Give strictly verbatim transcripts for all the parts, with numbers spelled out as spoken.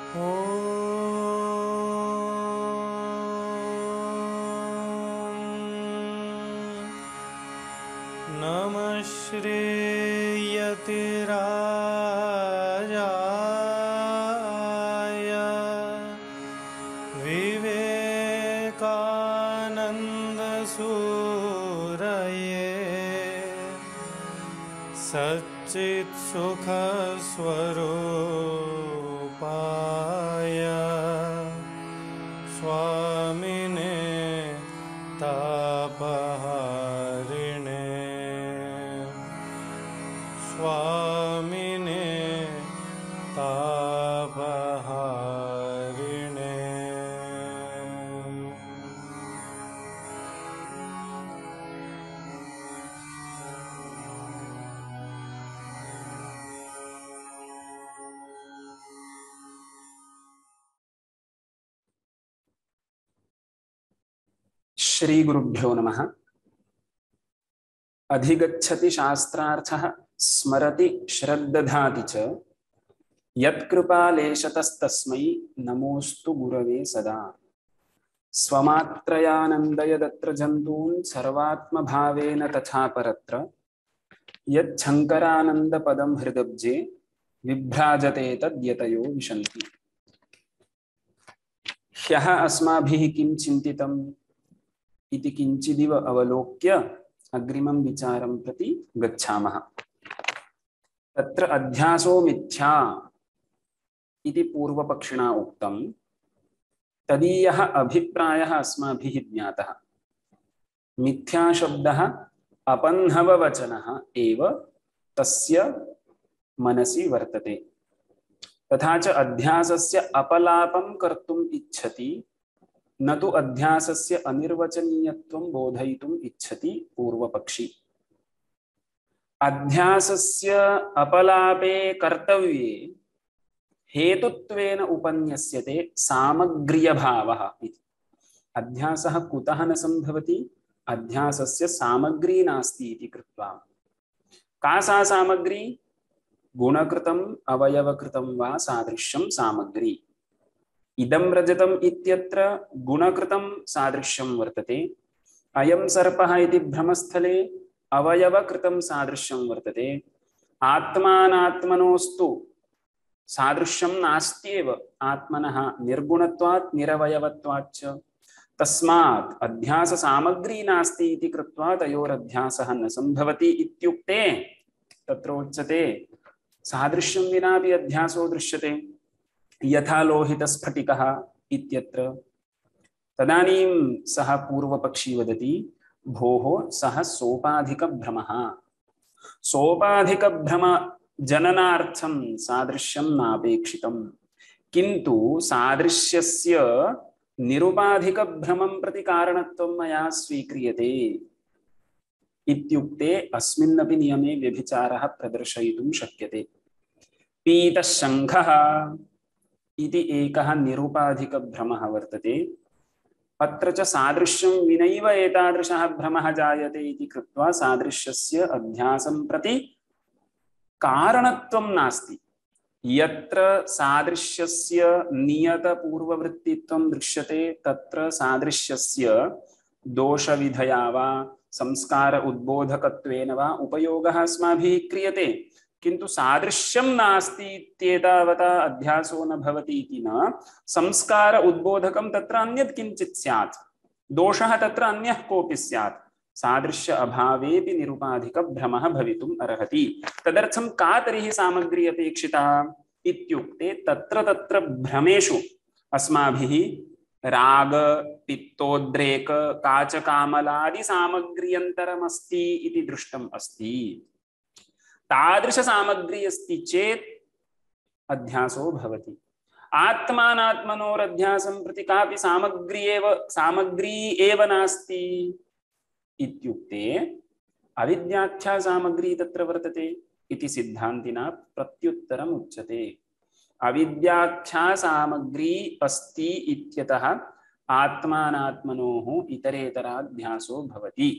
नमः श्रीयतिराजाय विवेकानन्दसूरये सच्चित्सुखस्वरूपाय स्वामिने तापहारिणे स्वामिने तापहारिणे। श्री गुरुभ्यो नमः। अधिगच्छति शास्त्रार्थः स्मरति श्रद्दधाति च यत्कृपालेशतस्तस्मै नमोस्तु गुरवे सदा। स्वमात्रयानन्दयदत्र जन्तून् सर्वात्मभावेन तथा परत्र यच्छङ्करानन्दपदं हृदब्जे विभ्राजते तद्यतयो विशन्ति। ह्यः अस्माभिः किं चिन्तितम् इति किञ्चिदिव अवलोक्य अग्रिमं विचारं प्रति गच्छामः। तत्र अध्यासो मिथ्या इति पूर्वपक्षिणा उक्तं। तदीयः अभिप्रायः अस्माभिः ज्ञातः। मिथ्या शब्दः अपन्नववचनः एव तस्य मनसि वर्तते। तथा च अध्यासस्य अपलापं कर्तुम् इच्छति, न तु अध्यासस्य अनिर्वचनीयत्वं बोधयितुम् इच्छति पूर्वपक्षी। अध्यासस्य अपलापे कर्तव्ये हेतुत्वेन उपन्यस्यते सामग्र्यभावः इति। अध्यासः कुतः न सम्भवति? अध्यासस्य सामग्री नास्ति इति कृत्वा। का सा सामग्री? गुणकृतम् अवयवकृतं वा सादृश्यं सामग्री। इदं रजतम् इत्यत्र गुणकृतं सादृश्यं वर्तते। अयं सर्पः इति भ्रमस्थले अवयवकृतं सादृश्यं वर्तते। आत्मानात्मनोस्तु सादृश्यं नास्त्येव। आत्मनः निर्गुणत्वात् निरवयवत्वाच्च। तस्मात् अध्यास सामग्री नास्ति इति कृत्वा तयोरध्यासः न सम्भवति इत्युक्ते तत्र उच्यते सादृश्यं विनापि अध्यासो दृश्यते, यथा लोहितस्फटिकः इत्यत्र। तदानीं सः पूर्वपक्षी वदति, भोः सः सोपाधिकभ्रमः। सोपाधिकभ्रम जननार्थं सादृश्यं नापेक्षितं, किन्तु सादृश्यस्य निरुपाधिकभ्रमं प्रति कारणत्वं मया स्वीक्रियते इत्युक्ते अस्मिन्नपि नियमे व्यभिचारः प्रदर्शयितुं शक्यते। पीतशङ्खः इति एकः निरुपाधिकभ्रमः वर्तते। अत्र च सादृश्यं विनैव एतादृशः भ्रमः जायते इति कृत्वा सादृश्यस्य अध्यासं प्रति कारणत्वं नास्ति। यत्र सादृश्यस्य नियतपूर्ववृत्तित्वं दृश्यते तत्र सादृश्यस्य दोषविधया वा संस्कार उद्बोधकत्वेन वा उपयोगः अस्माभिः क्रियते, किन्तु सादृश्यं नास्ति इत्येतावता अध्यासो न भवति इति न। संस्कार उद्बोधकं तत्र अन्यत् किञ्चित् स्यात्, दोषः तत्र अन्यः कोऽपि स्यात्। सादृश्य अभावेपि निरुपाधिकभ्रमः भवितुम् अर्हति। तदर्थं का तर्हि सामग्री अपेक्षिता इत्युक्ते तत्र तत्र भ्रमेषु अस्माभिः राग पित्तोद्रेक काचकामलादि सामग्र्यन्तरमस्ति इति दृष्टम् अस्ति। तादृश सामग्री अस्ति चेत् अध्यासो भवति। आत्मानात्मनोरध्यासं प्रति कापि सामग्री एव सामग्री एव नास्ति इत्युक्ते अविद्याख्या सामग्री तत्र वर्तते इति सिद्धान्तिना प्रत्युत्तरम् उच्यते। अविद्याख्या सामग्री अस्ति इत्यतः आत्मानात्मनोः इतरेतराध्यासो भवति।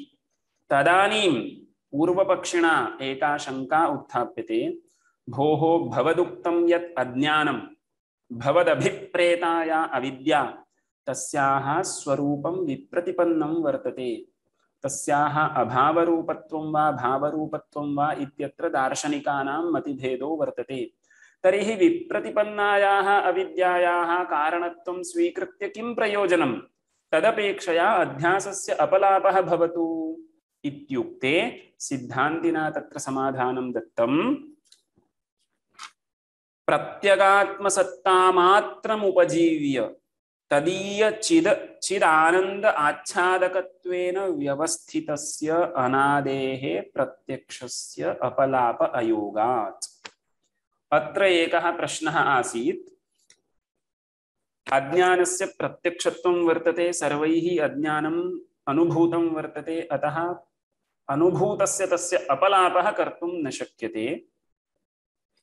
तदानीं पूर्वपक्षिणा एका शंका उत्थाप्यते, भोः भवदुक्तं यत् अज्ञानं भवदभिप्रेताया अविद्या तस्याः स्वरूपं विप्रतिपन्नं वर्तते। तस्याः अभावरूपत्वं वा भावरूपत्वं वा इत्यत्र दार्शनिकानां मतिभेदो वर्तते। तर्हि विप्रतिपन्नायाः अविद्यायाः कारणत्वं स्वीकृत्य किं प्रयोजनं? तदपेक्षया अध्यासस्य अपलापः भवतु इत्युक्ते सिद्धान्तिना तत्र समाधानं दत्तं। प्रत्यगात्मसत्तामात्रमुपजीव्य तदीय चिद चिदानंद आच्छादकत्वेन व्यवस्थितस्य अनादेः प्रत्यक्षस्य अपलाप अयोगात्। अत्र एकः प्रश्नः आसीत्। अज्ञानस्य प्रत्यक्षत्वं वर्तते, सर्वैः अज्ञानम् अनुभूतं वर्तते, अतः अनुभूतस्य तस्य अपलापः कर्तुं न शक्यते।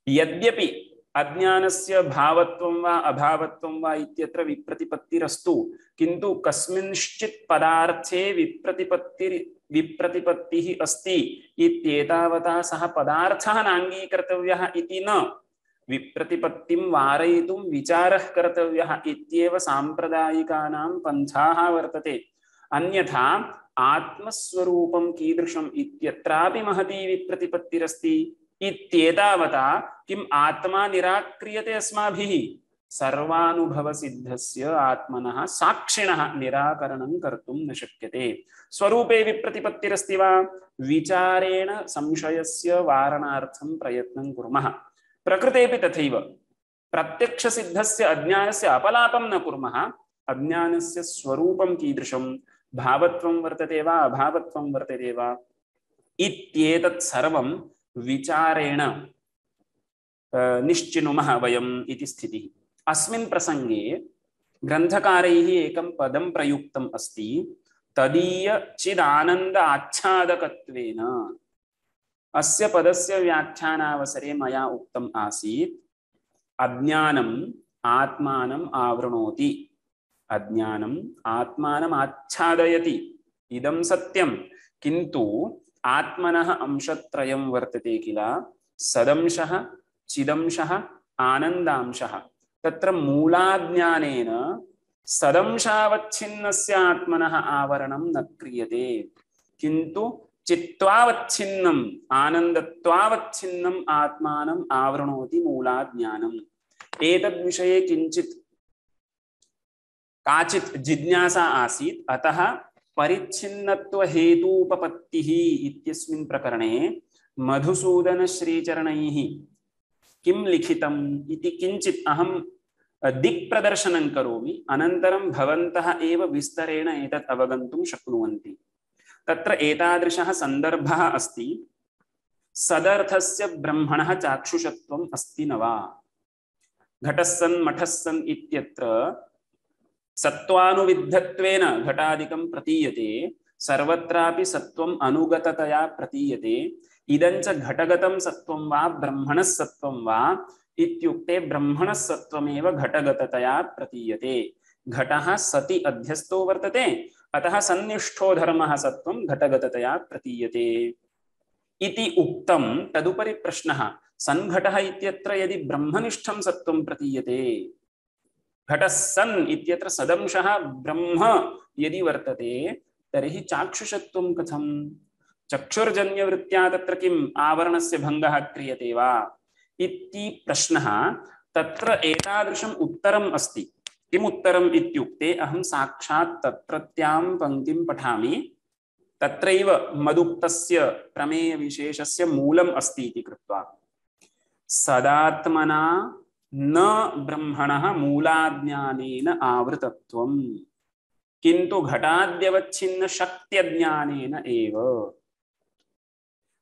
यद्यपि अज्ञानस्य भावत्वं वा अभावत्वं वा इत्यत्र विप्रतिपत्तिरस्तु, किन्तु कस्मिंश्चित् पदार्थे विप्रतिपत्ति विप्रतिपत्तिः अस्ति इत्येतावता सः पदार्थः नाङ्गीकर्तव्यः इति न, विप्रतिपत्तिं वारयितुं विचारः कर्तव्यः इत्येव साम्प्रदायिकानां पन्थाः वर्तते। अन्यथा आत्मस्वरूपं कीदृशम् इत्यत्रापि महती विप्रतिपत्तिरस्ति इत्येतावता किम् आत्मा निराक्रियते अस्माभिः? सर्वानुभवसिद्धस्य आत्मनः साक्षिणः निराकरणं कर्तुं न शक्यते। स्वरूपे विप्रतिपत्तिरस्ति वा? विचारेण संशयस्य वारणार्थं प्रयत्नं कुर्मः। प्रकृतेपि तथैव। प्रत्यक्षसिद्धस्य अज्ञानस्य अपलापं न कुर्मः। अज्ञानस्य स्वरूपं कीदृशं, भावत्वं वर्तते वा अभावत्वं वर्तते वा इत्येतत् सर्वं विचारेण निश्चिनुमः वयम् इति स्थितिः। अस्मिन् प्रसंगे ग्रन्थकारैः एकं पदं प्रयुक्तम् अस्ति, तदीय चिदानन्द आच्छादकत्वेन। अस्य पदस्य व्याख्यानावसरे मया उक्तम् आसीत्, अज्ञानम् आत्मानम् आवृणोति, अज्ञानम् आत्मानम् आच्छादयति, इदं सत्यं। किन्तु आत्मनः अंशत्रयं वर्तते किल, सदंशः चिदंशः आनन्दांशः। तत्र मूलाज्ञानेन सदंशावच्छिन्नस्य आत्मनः आवरणं न क्रियते, किन्तु चित्त्वावच्छिन्नम् आनन्दत्वावच्छिन्नम् आत्मानम् आवृणोति मूलाज्ञानम्। एतद्विषये किञ्चित् काचित् जिज्ञासा आसीत्। अतः परिच्छिन्नत्व हेतूपपत्तिः इत्यस्मिन् प्रकरणे मधुसूदन श्रीचरणैः किं लिखितम् इति किञ्चित् अहं दिक्प्रदर्शनं करोमि, अनन्तरं भवन्तः एव विस्तरेण एतत् अवगन्तुं शक्नुवन्ति। तत्र एतादृशः सन्दर्भः अस्ति, सदर्थस्य ब्रह्मणः चाक्षुषत्वम् अस्ति न वा? घटस्सन् मठस्सन् इत्यत्र सत्त्वानुविद्धत्वेन घटादिकं प्रतीयते, सर्वत्रापि सत्त्वम् अनुगततया प्रतीयते। इदञ्च घटगतं सत्त्वं वा ब्रह्मणः सत्त्वं वा इत्युक्ते ब्रह्मणः सत्त्वमेव घटगततया प्रतीयते। घटः सति अध्यस्तो वर्तते, अतः सन्निष्ठो धर्मः सत्त्वं घटगततया प्रतीयते इति उक्तं। तदुपरि प्रश्नः, सन्घटः इत्यत्र यदि ब्रह्मनिष्ठं सत्त्वं प्रतीयते, घटः सन् इत्यत्र सदंशः ब्रह्म यदि वर्तते, तर्हि चाक्षुषत्वं कथं? चक्षुर्जन्यवृत्त्या तत्र किम् आवरणस्य भङ्गः क्रियते वा इति प्रश्नः। तत्र एतादृशम् उत्तरम् अस्ति। किम् उत्तरम् इत्युक्ते, अहं साक्षात् तत्रत्यां पङ्क्तिं पठामि। तत्रैव मदुक्तस्य प्रमेयविशेषस्य मूलम् अस्ति इति कृत्वा, सदात्मना न ब्रह्मणः मूलाज्ञानेन आवृतत्वम्, किन्तु घटाद्यवच्छिन्न शक्त्यज्ञानेन एव।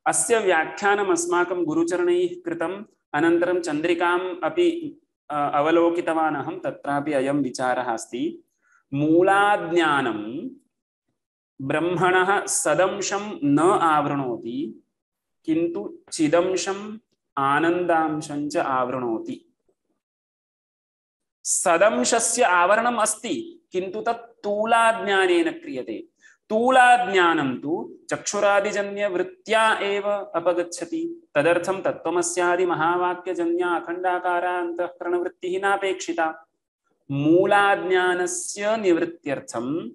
अस्य व्याख्यानम् अस्माकं गुरुचरणैः कृतम्, अनन्तरं चन्द्रिकाम् अपि अवलोकितवान् अहं। तत्रापि अयं विचारः अस्ति, मूलाज्ञानं ब्रह्मणः सदंशं न आवृणोति, किन्तु चिदंशम् आनन्दांशं च आवृणोति। सदंशस्य आवरणम् अस्ति, किन्तु तत् तूलाज्ञानेन क्रियते। तूलाज्ञानं तु चक्षुरादिजन्यवृत्त्या एव अपगच्छति। तदर्थं तत्त्वमस्यादि महावाक्यजन्या अखण्डाकारा अन्तःकरणवृत्तिः नापेक्षिता। मूलाज्ञानस्य निवृत्त्यर्थं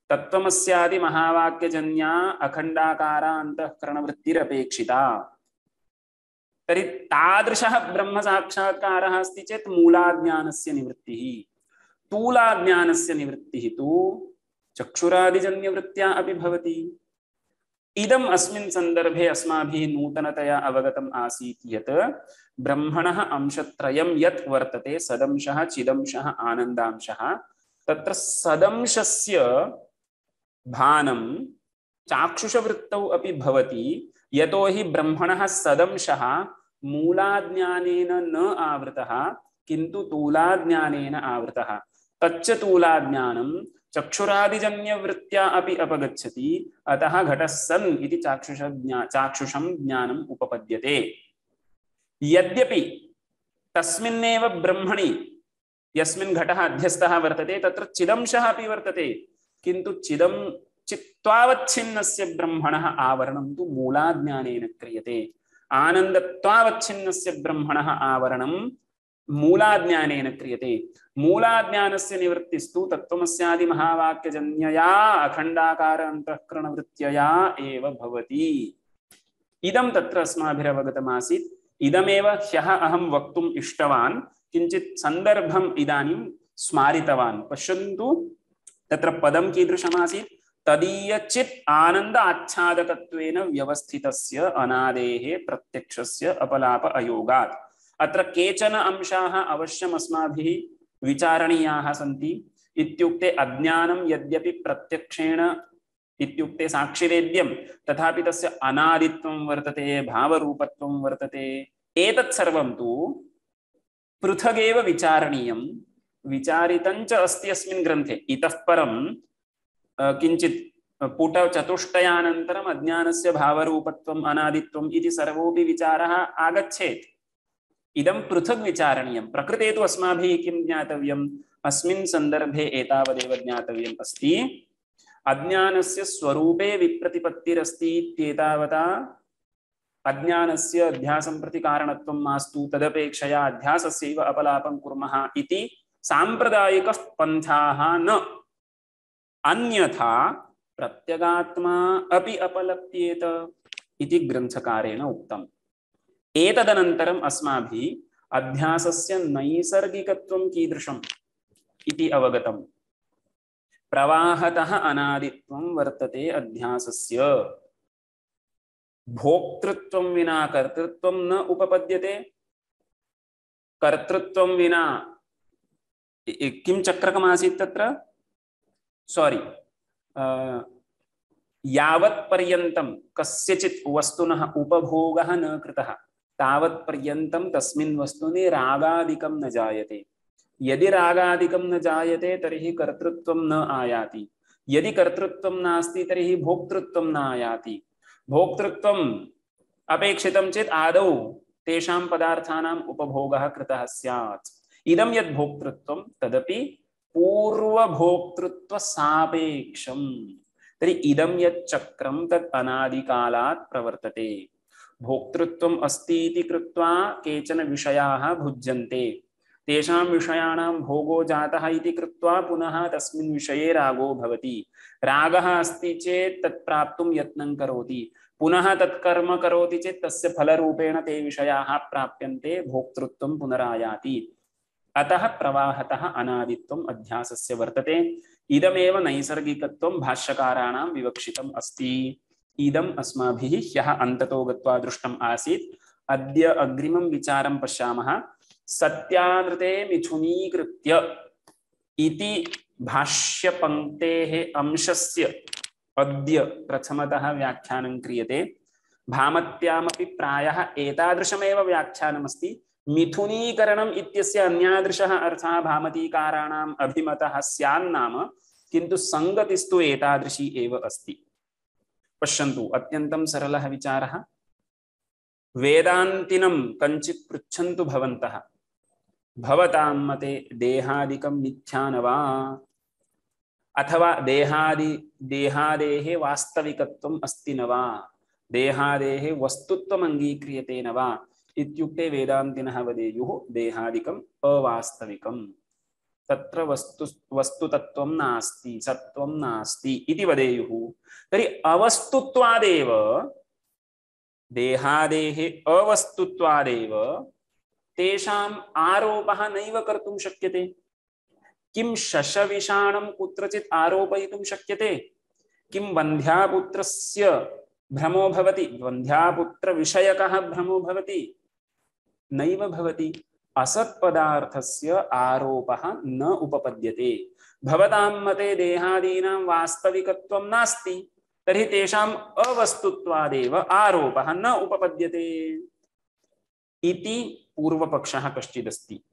तत्त्वमस्यादि महावाक्यजन्या अखण्डाकारा अन्तःकरणवृत्तिरपेक्षिता। तर्हि तादृशः ब्रह्मसाक्षात्कारः अस्ति चेत् मूलाज्ञानस्य निवृत्तिः। तूलाज्ञानस्य निवृत्तिः तु चक्षुरादिजन्यवृत्त्या अपि भवति। इदम् अस्मिन् सन्दर्भे अस्माभिः नूतनतया अवगतम् आसीत् यत् ब्रह्मणः अंशत्रयं यत् वर्तते सदंशः चिदंशः आनन्दांशः, तत्र सदंशस्य भानं चाक्षुषवृत्तौ अपि भवति। यतो हि ब्रह्मणः सदंशः मूलाज्ञानेन न आवृतः किन्तु तूलाज्ञानेन आवृतः। तच्च तूलाज्ञानं चक्षुरादिजन्यवृत्त्या अपि अपगच्छति। अतः घटः सन् इति चाक्षुष ज्ञा चाक्षुषं ज्ञानम् उपपद्यते। यद्यपि तस्मिन्नेव ब्रह्मणि यस्मिन् घटः अध्यस्तः वर्तते तत्र चिदंशः अपि वर्तते, किन्तु चिदं चित्त्वावच्छिन्नस्य ब्रह्मणः आवरणं तु मूलाज्ञानेन क्रियते। आनन्दत्वावच्छिन्नस्य ब्रह्मणः आवरणं मूलाज्ञानेन क्रियते। मूलाज्ञानस्य निवृत्तिस्तु तत्त्वमस्यादि महावाक्यजन्यया अखण्डाकार अन्तःकरणवृत्त्यया एव भवति। इदं तत्र अस्माभिरवगतमासीत्। इदमेव ह्यः अहं वक्तुम् इष्टवान्, किञ्चित् सन्दर्भम् इदानीं स्मारितवान्। पश्यन्तु, तत्र पदं कीदृशमासीत्? तदीयचित् आनन्द आच्छादकत्वेन व्यवस्थितस्य अनादेः प्रत्यक्षस्य अपलाप अयोगात्। अत्र केचन अंशाः अवश्यम् अस्माभिः विचारणीयाः सन्ति। इत्युक्ते अज्ञानं यद्यपि प्रत्यक्षेण इत्युक्ते साक्षिवेद्यं, तथापि तस्य अनादित्वं वर्तते, भावरूपत्वं वर्तते। एतत् सर्वं तु पृथगेव विचारणीयं। विचारितञ्च अस्ति अस्मिन् ग्रन्थे। इतः परं किञ्चित् पुटचतुष्टयानन्तरम् अज्ञानस्य भावरूपत्वम् अनादित्वम् इति सर्वोऽपि विचारः आगच्छेत्। इदं पृथक् विचारणीयं। प्रकृते तु अस्माभिः किं ज्ञातव्यम्? अस्मिन् सन्दर्भे एतावदेव ज्ञातव्यम् अस्ति। अज्ञानस्य स्वरूपे विप्रतिपत्तिरस्ति इत्येतावता अज्ञानस्य अध्यासं प्रति कारणत्वं मास्तु, तदपेक्षया अध्यासस्यैव अपलापं कुर्मः इति साम्प्रदायिकः पन्थाः न। अन्यथा प्रत्यगात्मा अपि अपलप्येत इति ग्रन्थकारेण उक्तम्। एतदनन्तरम् अस्माभिः अध्यासस्य नैसर्गिकत्वं कीदृशम् इति अवगतम्। प्रवाहतः अनादित्वं वर्तते अध्यासस्य। भोक्तृत्वं विना कर्तृत्वं न उपपद्यते। कर्तृत्वं विना किं चक्रकमासीत् तत्र? सॉरी, यावत् पर्यन्तं कस्यचित् वस्तुनः उपभोगः न कृतः तावत् पर्यन्तं तस्मिन् वस्तुनि रागादिकं न जायते। यदि रागादिकं न जायते तर्हि कर्तृत्वं न आयाति। यदि कर्तृत्वं नास्ति तर्हि भोक्तृत्वं न आयाति। भोक्तृत्वम् अपेक्षितं चेत् आदौ तेषां पदार्थानाम् उपभोगः कृतः स्यात्। इदं यद् भोक्तृत्वं तदपि पूर्वभोक्तृत्वसापेक्षम्। तर्हि इदं यत् चक्रं तत् अनादिकालात् प्रवर्तते। भोक्तृत्वम् अस्ति इति कृत्वा केचन विषयाः भुज्यन्ते। तेषां विषयाणां भोगो जातः इति कृत्वा पुनः तस्मिन् विषये रागो भवति। रागः अस्ति चेत् तत् प्राप्तुं यत्नं करोति, पुनः तत्कर्म करोति चेत् तस्य फलरूपेण ते विषयाः प्राप्यन्ते, भोक्तृत्वं पुनरायाति। अतः प्रवाहतः अनादित्वम् अध्यासस्य वर्तते। इदमेव नैसर्गिकत्वं भाष्यकाराणां विवक्षितम् अस्ति। इदम् अस्माभिः ह्यः अन्ततो गत्वा दृष्टम् आसीत्। अद्य अग्रिमं विचारं पश्यामः। सत्यानृते मिथुनीकृत्य इति भाष्यपङ्क्तेः अंशस्य अद्य प्रथमतः व्याख्यानं क्रियते। भामत्यामपि प्रायः एतादृशमेव व्याख्यानमस्ति। मिथुनीकरणम् इत्यस्य अन्यादृशः अर्थः भामतीकाराणाम् अभिमतः स्यान्नाम, किन्तु संगतिस्तु एतादृशी एव अस्ति। पश्यन्तु, अत्यन्तं सरलः विचारः। वेदान्तिनं कञ्चित् पृच्छन्तु भवन्तः, भवतां मते देहादिकं मिथ्या न वा? अथवा देहादि देहादेः वास्तविकत्वम् अस्ति न वा, देहादेः वस्तुत्वम् अङ्गीक्रियते न वा इत्युक्ते वेदान्तिनः वदेयुः देहादिकम् अवास्तविकम्, तत्र वस्तु वस्तुतत्वं नास्ति, सत्त्वं नास्ति इति वदेयुः। तर्हि अवस्तुत्वादेव, देहादेः अवस्तुत्वादेव तेषाम् आरोपः नैव कर्तुं शक्यते। किं शशविषाणं कुत्रचित् आरोपयितुं शक्यते? किं वन्ध्यापुत्रस्य भ्रमो भवति, वन्ध्यापुत्रविषयकः भ्रमो भवति? नैव भवति। असत्पदार्थस्य आरोपः न उपपद्यते। भवतां मते देहादीनां वास्तविकत्वं नास्ति, तर्हि तेषाम् अवस्तुत्वादेव आरोपः न उपपद्यते इति पूर्वपक्षः कश्चिदस्ति।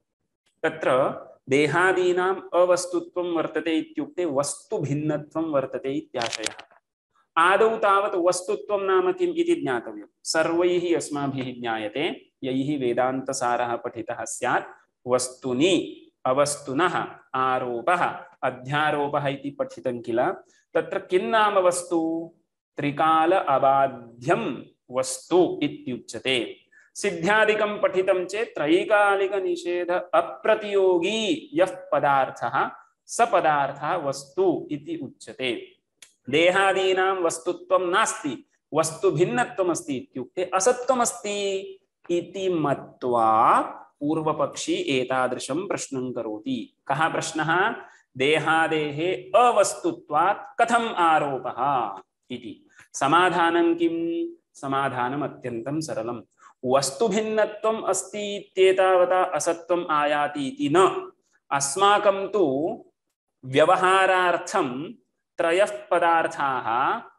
तत्र देहादीनाम् अवस्तुत्वं वर्तते इत्युक्ते वस्तुभिन्नत्वं वर्तते इत्याशयः। आदौ तावत् वस्तुत्वं नाम किम् इति ज्ञातव्यं। सर्वैः अस्माभिः ज्ञायते, यैः वेदान्तसारः पठितः स्यात्, वस्तुनि अवस्तुनः आरोपः अध्यारोपः इति पठितं किल। तत्र किं नाम वस्तु? त्रिकाल अबाध्यं वस्तु इत्युच्यते। सिद्ध्यादिकं पठितं चेत् त्रैकालिक निषेध अप्रतियोगी यः पदार्थः स पदार्थः वस्तु इति उच्यते। देहादीनां वस्तुत्वं नास्ति, वस्तु भिन्नत्वम् अस्ति इत्युक्ते असत्त्वम् अस्ति इति मत्वा पूर्वपक्षी एतादृशं प्रश्नं करोति। कः प्रश्नः? देहादेः अवस्तुत्वात् कथम् आरोपः इति। समाधानं किं? समाधानम् अत्यन्तं सरलम्। वस्तुभिन्नत्वम् अस्ति इत्येतावता असत्त्वम् आयाति इति न। अस्माकं तु व्यवहारार्थं त्रयः पदार्थाः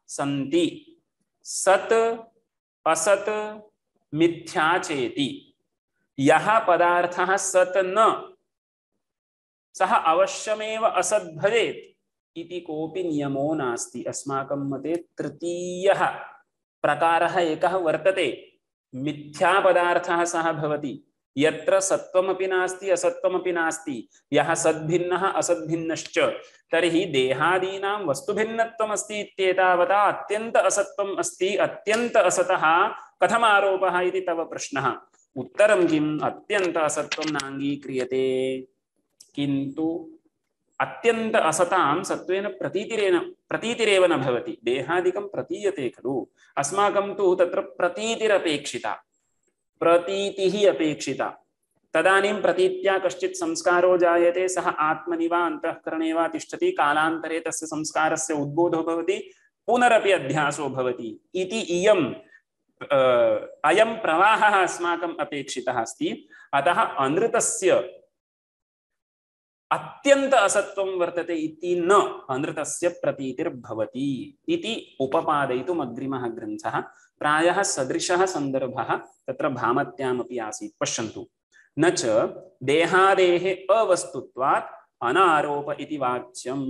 सन्ति, सत् असत् मिथ्या चेति। यः पदार्थः सत् न, सः अवश्यमेव असत् भवेत् इति कोऽपि नियमो नास्ति। अस्माकं मते तृतीयः प्रकारः एकः वर्तते। मिथ्या पदार्थः सः भवति, यत्र सत्त्वमपि नास्ति असत्त्वमपि नास्ति, यः सद्भिन्नः असद्भिन्नश्च। तर्हि देहादीनां वस्तुभिन्नत्वम् अस्ति इत्येतावता अत्यन्त असत्त्वम् अस्ति, अत्यन्त असतः कथम् आरोपः इति तव प्रश्नः। उत्तरं किम्? अत्यन्त असत्त्वं नाङ्गीक्रियते, किन्तु अत्यन्त असतां सत्त्वेन प्रतीतिरेन प्रतीतिरेव न भवति। देहादिकं प्रतीयते खलु, अस्माकं तु तत्र प्रतीतिरपेक्षिता, प्रतीतिः अपेक्षिता। तदानीं प्रतीत्या कश्चित् संस्कारो जायते, सः आत्मनि वा अन्तःकरणे वा तिष्ठति, कालान्तरे तस्य संस्कारस्य उद्बोधो भवति, पुनरपि अध्यासो भवति इति इयम् अयं प्रवाहः अस्माकम् अपेक्षितः अस्ति। अतः अनृतस्य अत्यंत असत्वं वर्तते इति न अनृतस्य प्रतीतिर्भवति इति उपपादयितुम् अग्रिमः ग्रन्थः। प्रायः सदृशः सन्दर्भः तत्र भामत्यामपि आसीत्। पश्यन्तु, न च देहादेः अवस्तुत्वात् अनारोप इति वाच्यम्।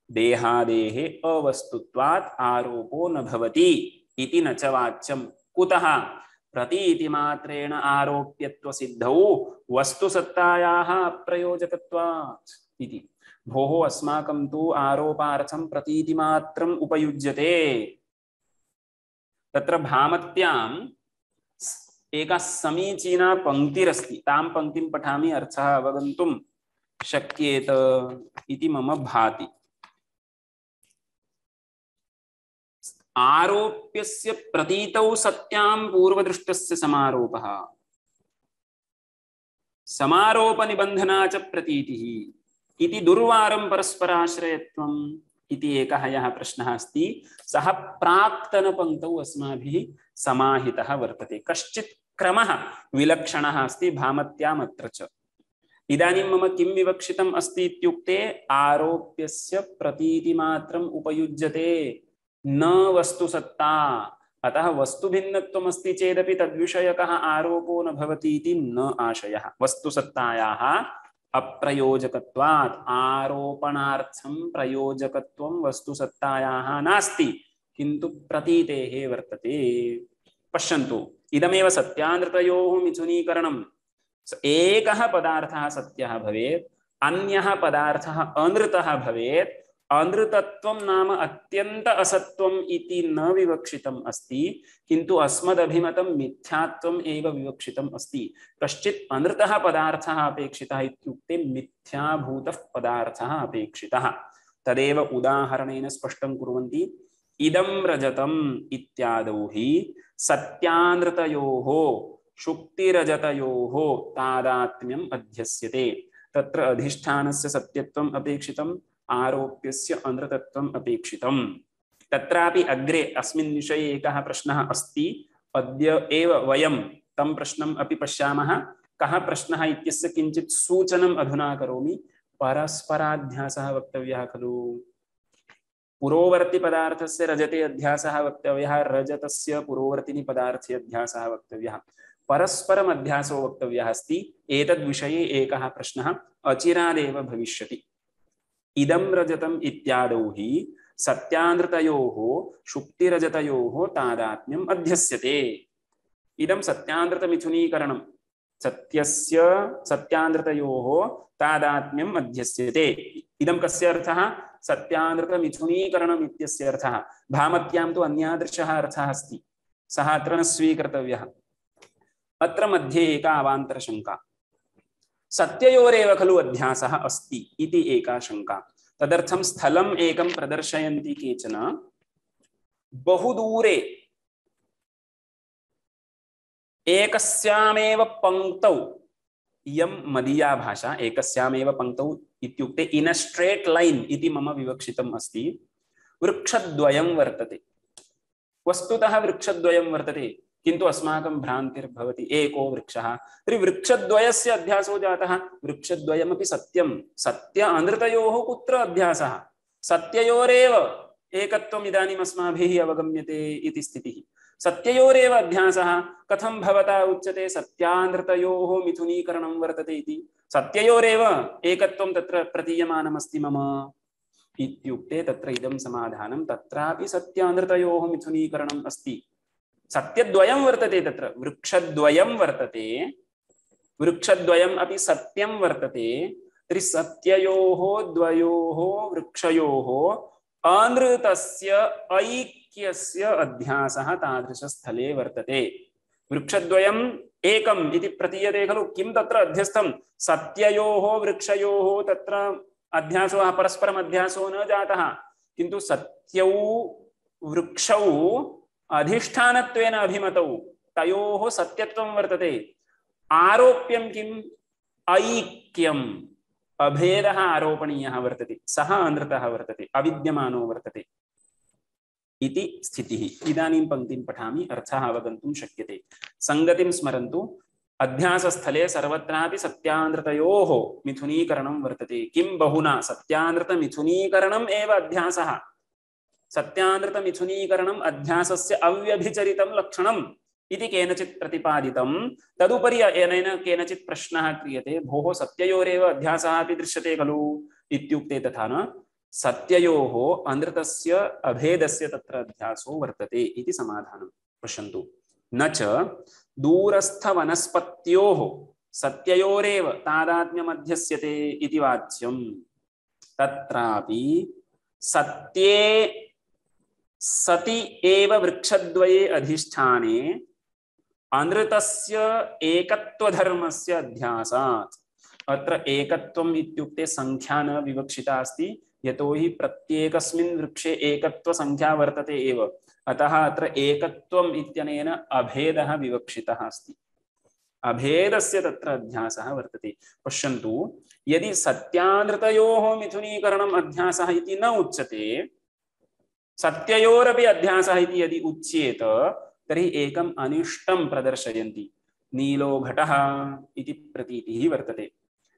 देहादेः अवस्तुत्वात् आरोपो न भवति इति न च वाच्यम्। कुतः? प्रतीतिमात्रेण आरोप्यत्व सिद्धौ वस्तुसत्तायाः अप्रयोजकत्वात् इति। भोः, अस्माकं तु आरोपार्थं प्रतीतिमात्रम् उपयुज्यते। तत्र भामत्याम् एका समीचीना पंक्तिरस्ति, तां पंक्तिं पठामि, अर्थः अवगन्तुं शक्येत इति मम भाति। आरोप्यस्य प्रतीतौ सत्यां पूर्वदृष्टस्य समारोपः, समारोप निबंधना च प्रतीतिः इति दुर्वारं परस्पराश्रयत्वम् इति एकः यः प्रश्नः अस्ति, सः प्राक्तनपङ्क्तौ अस्माभिः समाहितः वर्तते। कश्चित् क्रमः विलक्षणः अस्ति भामत्याम् अत्र च। इदानीं मम किं विवक्षितम् अस्ति इत्युक्ते, आरोप्यस्य प्रतीतिमात्रम् उपयुज्यते, न वस्तुसत्ता। अतः वस्तुभिन्नत्वम् अस्ति चेदपि तद्विषयकः आरोपो न भवति इति न आशयः। वस्तुसत्तायाः अप्रयोजकत्वात्, आरोपणार्थं प्रयोजकत्वं वस्तुसत्तायाः नास्ति, किन्तु प्रतीतेः वर्तते। पश्यन्तु, इदमेव सत्यानृतयोः मिथुनीकरणम्। एकः पदार्थः सत्यः भवेत्, अन्यः पदार्थः अनृतः भवेत्, अनृतत्वं नाम अत्यंत असत्वम् इति न विवक्षितम् अस्ति, किन्तु अस्मदभिमतं मिथ्यात्वम् एव विवक्षितम् अस्ति। कश्चित् अनृतः पदार्थः अपेक्षितः इत्युक्ते मिथ्याभूतः पदार्थः अपेक्षितः। तदेव उदाहरणेन स्पष्टं कुर्वन्ति। इदं रजतम् इत्यादौ हि सत्यानृतयोः शुक्तिरजतयोः तादात्म्यम् अध्यस्यते। तत्र अधिष्ठानस्य सत्यत्वम् अपेक्षितम्, आरोप्यस्य अनृतत्वम् अपेक्षितम्। तत्रापि अग्रे अस्मिन् विषये एकः प्रश्नः अस्ति। अद्य एव वयं तं प्रश्नम् अपि पश्यामः। कः प्रश्नः इत्यस्य किञ्चित् सूचनम् अधुना करोमि। परस्पराध्यासः वक्तव्यः खलु। पुरोवर्ति पदार्थस्य रजते अध्यासः वक्तव्यः, रजतस्य पुरोवर्तिनि पदार्थे अध्यासः वक्तव्यः, परस्परम् अध्यासो वक्तव्यः अस्ति। एतद्विषये एकः प्रश्नः अचिरादेव भविष्यति। इदं रजतम् इत्यादौ हि सत्यानृतयोः शुक्तिरजतयोः तादात्म्यम् अध्यस्यते। इदं सत्यानृतमिथुनीकरणं, सत्यस्य सत्यानृतयोः तादात्म्यम् अध्यस्यते। इदं कस्य अर्थः? सत्यानृतमिथुनीकरणम् इत्यस्य अर्थः। भामत्यां तु अन्यादृशः अर्थः अस्ति, सः अत्र न स्वीकर्तव्यः। अत्र मध्ये एका अवान्तरशङ्का। सत्ययोरेव खलु अध्यासः अस्ति इति एका शङ्का। तदर्थं स्थलम् एकं प्रदर्शयन्ति केचन। बहुदूरे एकस्यामेव पंक्तौ, इयं मदीया भाषा, एकस्यामेव पंक्तौ इत्युक्ते इन अ स्ट्रेट लाइन इति मम विवक्षितम् अस्ति। वृक्षद्वयं वर्तते। वस्तुतः वृक्षद्वयं वर्तते, किन्तु अस्माकं भ्रान्तिर्भवति एको वृक्षः। तर्हि वृक्षद्वयस्य अध्यासो जातः। वृक्षद्वयमपि सत्यं, सत्य अनृतयोः कुत्र अध्यासः? सत्ययोरेव एकत्वम् इदानीम् अस्माभिः अवगम्यते इति स्थितिः। सत्ययोरेव अध्यासः कथं भवता उच्यते सत्यानृतयोः मिथुनीकरणं वर्तते इति? सत्ययोरेव एकत्वं तत्र प्रतीयमानमस्ति मम इत्युक्ते तत्र इदं समाधानं। तत्रापि सत्यानृतयोः मिथुनीकरणम् अस्ति। सत्यद्वयं वर्तते, तत्र वृक्षद्वयं वर्तते, वृक्षद्वयम् अपि सत्यं वर्तते। तर्हि सत्ययोः द्वयोः वृक्षयोः अनृतस्य ऐक्यस्य अध्यासः तादृशस्थले वर्तते। वृक्षद्वयम् एकम् इति प्रतीयते खलु। किं तत्र अध्यस्थं? सत्ययोः वृक्षयोः तत्र अध्यासो, परस्परम् अध्यासो न जातः, किन्तु सत्यौ वृक्षौ अधिष्ठानत्वेन अभिमतौ तयोः सत्यत्वं वर्तते। आरोप्यं किम्? ऐक्यम्, अभेदः आरोपणीयः वर्तते, सः अनृतः वर्तते, अविद्यमानो वर्तते इति स्थितिः। इदानीं पङ्क्तिं पठामि, अर्थः अवगन्तुं शक्यते। संगतिं स्मरन्तु। अध्यासस्थले सर्वत्रापि सत्यानृतयोः मिथुनीकरणं वर्तते। किं बहुना? सत्यानृतमिथुनीकरणम् एव अध्यासः। सत्यानृतमिथुनीकरणम् अध्यासस्य अव्यभिचरितं लक्षणम् इति केनचित् प्रतिपादितं। तदुपरि अनेन केनचित् प्रश्नः क्रियते, भोः सत्ययोरेव अध्यासः अपि दृश्यते खलु इत्युक्ते तथा न। सत्ययोः अनृतस्य अभेदस्य तत्र अध्यासो वर्तते इति समाधानं। पश्यन्तु। न च दूरस्थवनस्पत्योः सत्ययोरेव तादात्म्यमध्यस्यते इति वाच्यं। तत्रापि सत्ये सति एव वृक्षद्वये अधिष्ठाने अनृतस्य एकत्वधर्मस्य अध्यासात्। अत्र एकत्वम् इत्युक्ते संख्या न विवक्षिता अस्ति, यतोहि प्रत्येकस्मिन् वृक्षे एकत्वसंख्या वर्तते एव। अतः अत्र एकत्वम् इत्यनेन अभेदः विवक्षितः अस्ति। अभेदस्य तत्र अध्यासः वर्तते। पश्यन्तु, यदि सत्यानृतयोः मिथुनीकरणम् अध्यासः इति न उच्यते, सत्ययोरपि अध्यासः इति यदि उच्येत, तर्हि एकम् अनिष्टं प्रदर्शयन्ति। नीलो घटः इति प्रतीतिः वर्तते।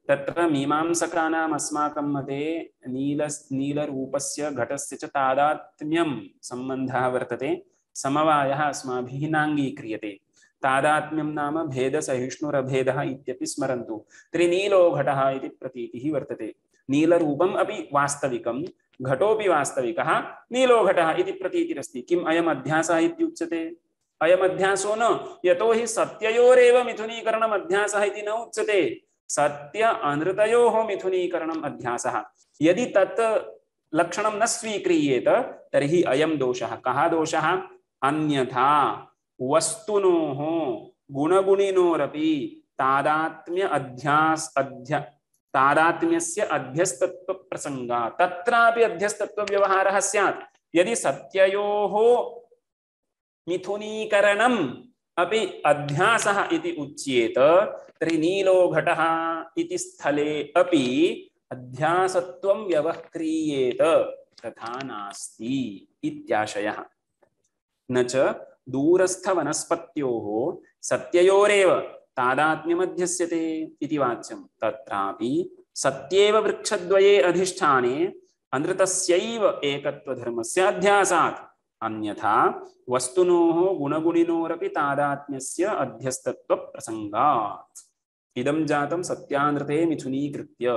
तत्र मीमांसकानाम् अस्माकं मते नील नीलरूपस्य घटस्य च तादात्म्यं सम्बन्धः वर्तते। समवायः अस्माभिः नाङ्गीक्रियते। तादात्म्यं नाम भेदसहिष्णुरभेदः इत्यपि स्मरन्तु। तर्हि नीलो घटः इति प्रतीतिः वर्तते। नीलरूपम् अपि वास्तविकं, घटोपि वास्तविकः, नीलो घटः इति प्रतीतिरस्ति। किम् अयम् अध्यासः इत्युच्यते? अयम् अध्यासो न, यतोहि सत्ययोरेव मिथुनीकरणम् अध्यासः इति न उच्यते। सत्य अनृतयोः मिथुनीकरणम् अध्यासः। यदि तत् लक्षणं न स्वीक्रियेत तर्हि अयं दोषः। कः दोषः? अन्यथा वस्तुनोः गुणगुणिनोरपि तादात्म्य अध्यास अध्य तादात्म्यस्य अध्यस्तत्व प्रसंगा तत्रापि अध्यस्तत्व व्यवहारः स्यात्। यदि सत्ययोः मिथुनीकरणम् अपि अध्यासः इति उच्येत तर्हि नीलो घटः इति स्थले अपि अध्यासत्वं व्यवह्रियेत तथा नास्ति इत्याशयः। न च दूरस्थवनस्पत्योः सत्ययोरेव तादात्म्यमध्यस्यते इति वाच्यं। तत्रापि सत्येव वृक्षद्वये अधिष्ठाने अनृतस्यैव एकत्वधर्मस्य अध्यासात्। अन्यथा वस्तुनोः गुणगुणिनोरपि तादात्म्यस्य अध्यस्तत्व प्रसंगात्। इदं जातं सत्यानृते मिथुनीकृत्य।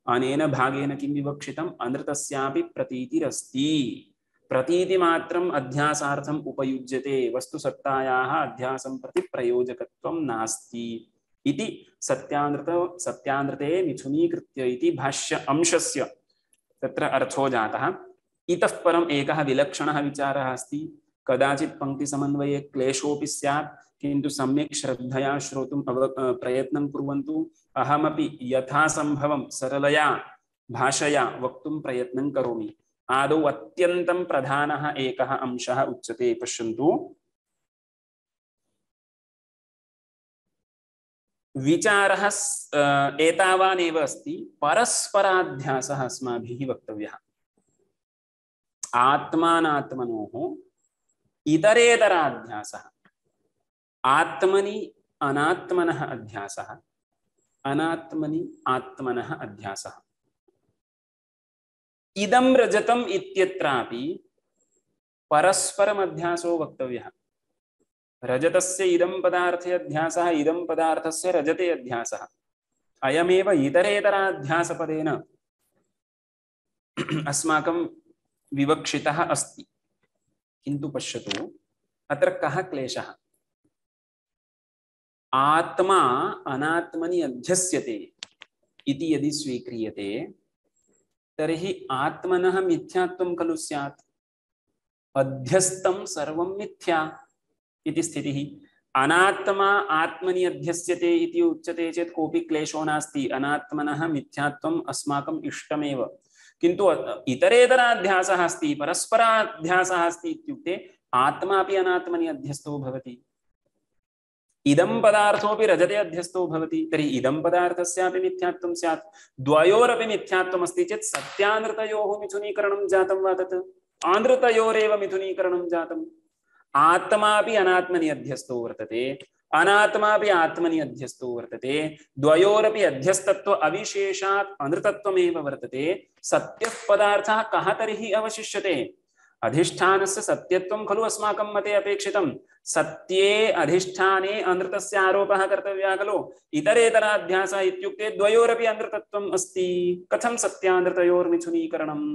अनेन भागेन किं विवक्षितम्? अनृतस्यापि प्रतीतिरस्ति। प्रतीतिमात्रम् अध्यासार्थम् उपयुज्यते, वस्तुसत्तायाः अध्यासं प्रति प्रयोजकत्वं नास्ति इति सत्यानृत सत्यानृते मिथुनीकृत्य इति भाष्य अंशस्य तत्र अर्थो जातः। इतः परम् एकः विलक्षणः विचारः अस्ति। कदाचित् पंक्तिसमन्वये क्लेशोऽपि स्यात्, किन्तु सम्यक् श्रद्धया श्रोतुम् अव प्रयत्नं कुर्वन्तु। अहमपि यथासम्भवं सरलया भाषया वक्तुं प्रयत्नं करोमि। आदौ अत्यन्तं प्रधानः एकः अंशः उच्यते, पश्यन्तु। विचारः एतावानेव अस्ति, परस्पराध्यासः अस्माभिः वक्तव्यः। आत्मानात्मनोः इतरेतराध्यासः, आत्मनि अनात्मनः अध्यासः, अनात्मनि आत्मनः अध्यासः। इदं रजतम् इत्यत्रापि परस्परम् अध्यासो वक्तव्यः। रजतस्य इदं पदार्थे अध्यासः, इदं पदार्थस्य रजते अध्यासः। अयमेव इतरेतराध्यासपदेन अस्माकं विवक्षितः अस्ति। किन्तु पश्यतु, अत्र कः क्लेशः? आत्मा अनात्मनि अध्यस्यते इति यदि स्वीक्रियते तर्हि आत्मनः मिथ्यात्वं खलु स्यात्। अध्यस्तं सर्वं मिथ्या इति स्थितिः। अनात्मा आत्मनि अध्यस्यते इति उच्यते चेत् कोऽपि क्लेशो नास्ति। अनात्मनः मिथ्यात्वम् अस्माकम् इष्टमेव। किन्तु इतरेतराध्यासः अस्ति, परस्पराध्यासः अस्ति इत्युक्ते आत्मा अपि अनात्मनि अध्यस्तो भवति, इदं पदार्थोऽपि रजते अध्यस्तो भवति। तर्हि इदं पदार्थस्यापि मिथ्यात्वं स्यात्। द्वयोरपि मिथ्यात्वम् अस्ति चेत् सत्यानृतयोः मिथुनीकरणं जातं वा? तत् आनृतयोरेव मिथुनीकरणं जातम्। आत्मापि अनात्मनि अध्यस्तो वर्तते, अनात्मापि आत्मनि अध्यस्तो वर्तते। द्वयोरपि अध्यस्तत्व अविशेषात् अनृतत्वमेव वर्तते। सत्यः पदार्थः कः तर्हि अवशिष्यते? अधिष्ठानस्य सत्यत्वं खलु अस्माकं मते अपेक्षितं। सत्ये अधिष्ठाने अनृतस्य आरोपः कर्तव्यः खलु। इतरेतराध्यासः इत्युक्ते द्वयोरपि अनृतत्वम् अस्ति। कथं सत्यानृतयोर्मिथुनीकरणम्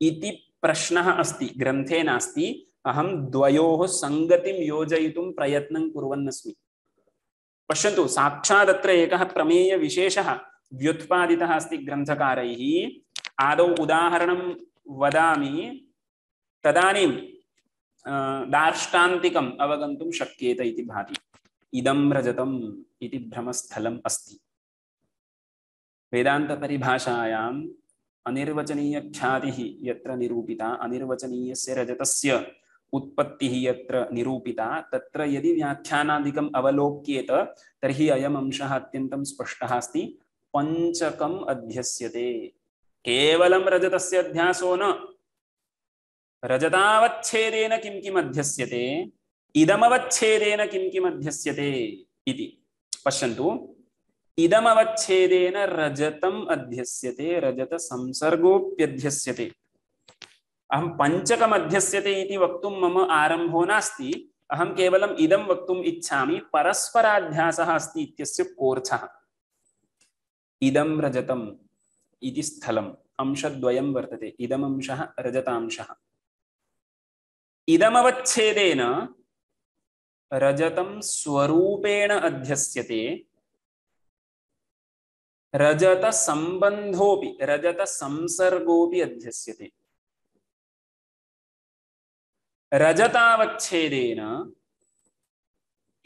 इति प्रश्नः अस्ति, ग्रन्थे नास्ति। अहं द्वयोः संगतिं योजयितुं प्रयत्नं कुर्वन्नस्मि। पश्यन्तु, साक्षात् अत्र एकः प्रमेय विशेषः व्युत्पादितः अस्ति ग्रन्थकारैः। आदौ उदाहरणं वदामि, तदानीं दार्ष्टान्तिकम् अवगन्तुं शक्येत इति भाति। इदं रजतम् इति भ्रमस्थलम् अस्ति। वेदान्तपरिभाषायाम् अनिर्वचनीयख्यातिः यत्र निरूपिता, अनिर्वचनीयस्य रजतस्य उत्पत्तिः यत्र निरूपिता, तत्र यदि व्याख्यानादिकम् अवलोक्येत तर्हि अयम् अंशः अत्यन्तं स्पष्टः अस्ति। पञ्चकम् अध्यस्यते। केवलं रजतस्य अध्यासो न, रजतावच्छेदेन किं किम् अध्यस्यते, इदमवच्छेदेन किं किम् अध्यस्यते इति पश्यन्तु। इदमवच्छेदेन रजतम् अध्यस्यते, रजत संसर्गोऽप्यध्यस्यते। अहं पञ्चकम् अध्यस्यते इति वक्तुं मम आरम्भो नास्ति। अहं केवलम् इदं वक्तुम् इच्छामि, परस्पराध्यासः अस्ति इत्यस्य कोऽर्थः। इदं रजतम् इति स्थलम् अंशद्वयं वर्तते। इदमंशः रजतांशः। इदमवच्छेदेन रजतं स्वरूपेण अध्यस्यते, रजत संबंधोपि रजत संसर्गोपि अध्यस्यते। रजतावच्छेदेन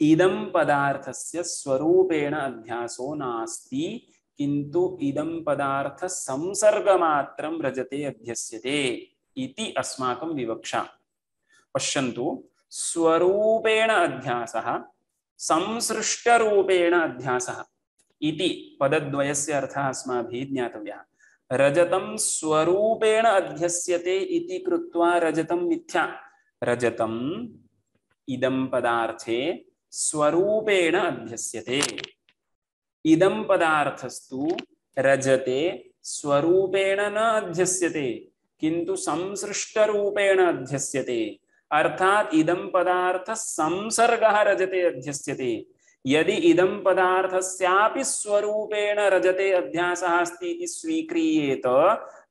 इदं पदार्थस्य स्वरूपेण अध्यासो नास्ति, किन्तु इदं पदार्थ संसर्गमात्रं रजते अध्यस्यते इति अस्माकं विवक्षा। पश्यन्तु, स्वरूपेण अध्यासः संसृष्टरूपेण अध्यासः इति पदद्वयस्य अर्थः अस्माभिः ज्ञातव्यः। रजतं स्वरूपेण अध्यस्यते इति कृत्वा रजतं मिथ्या। रजतम् इदं पदार्थे स्वरूपेण अध्यस्यते। इदं पदार्थस्तु रजते स्वरूपेण न अध्यस्यते, किन्तु संसृष्टरूपेण अध्यस्यते। अर्थात इदं पदार्थ संसर्गः रजते अध्यस्यते। यदि इदं पदार्थस्यापि स्वरूपेण रजते अध्यासः अस्ति इति स्वीक्रियेत,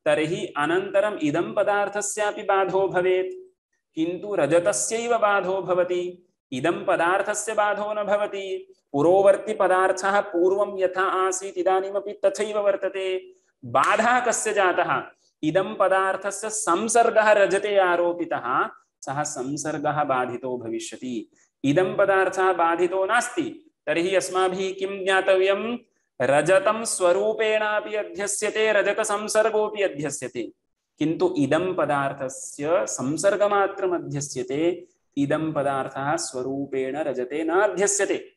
तर्हि अनन्तरम् इदं पदार्थस्यापि बाधो भवेत्, किन्तु रजतस्यैव बाधो भवति, इदं पदार्थस्य बाधो न भवति। पुरोवर्ती पदार्थः पूर्वं यथा आसीत् इदानीमपि तथैव वर्तते। बाधः कस्य जातः? इदं पदार्थस्य संसर्गः रजते आरोपितः, सः संसर्गः बाधितो भविष्यति। इदं पदार्थः बाधितो नास्ति, तर्हि अस्माभिः किं ज्ञातव्यं? रजतं स्वरूपेणापि अध्यस्यते, रजत संसर्गोऽपि अध्यस्यते, किन्तु इदं पदार्थस्य संसर्गमात्रम् अध्यस्यते, इदं पदार्थः स्वरूपेण रजते न अध्यस्यते।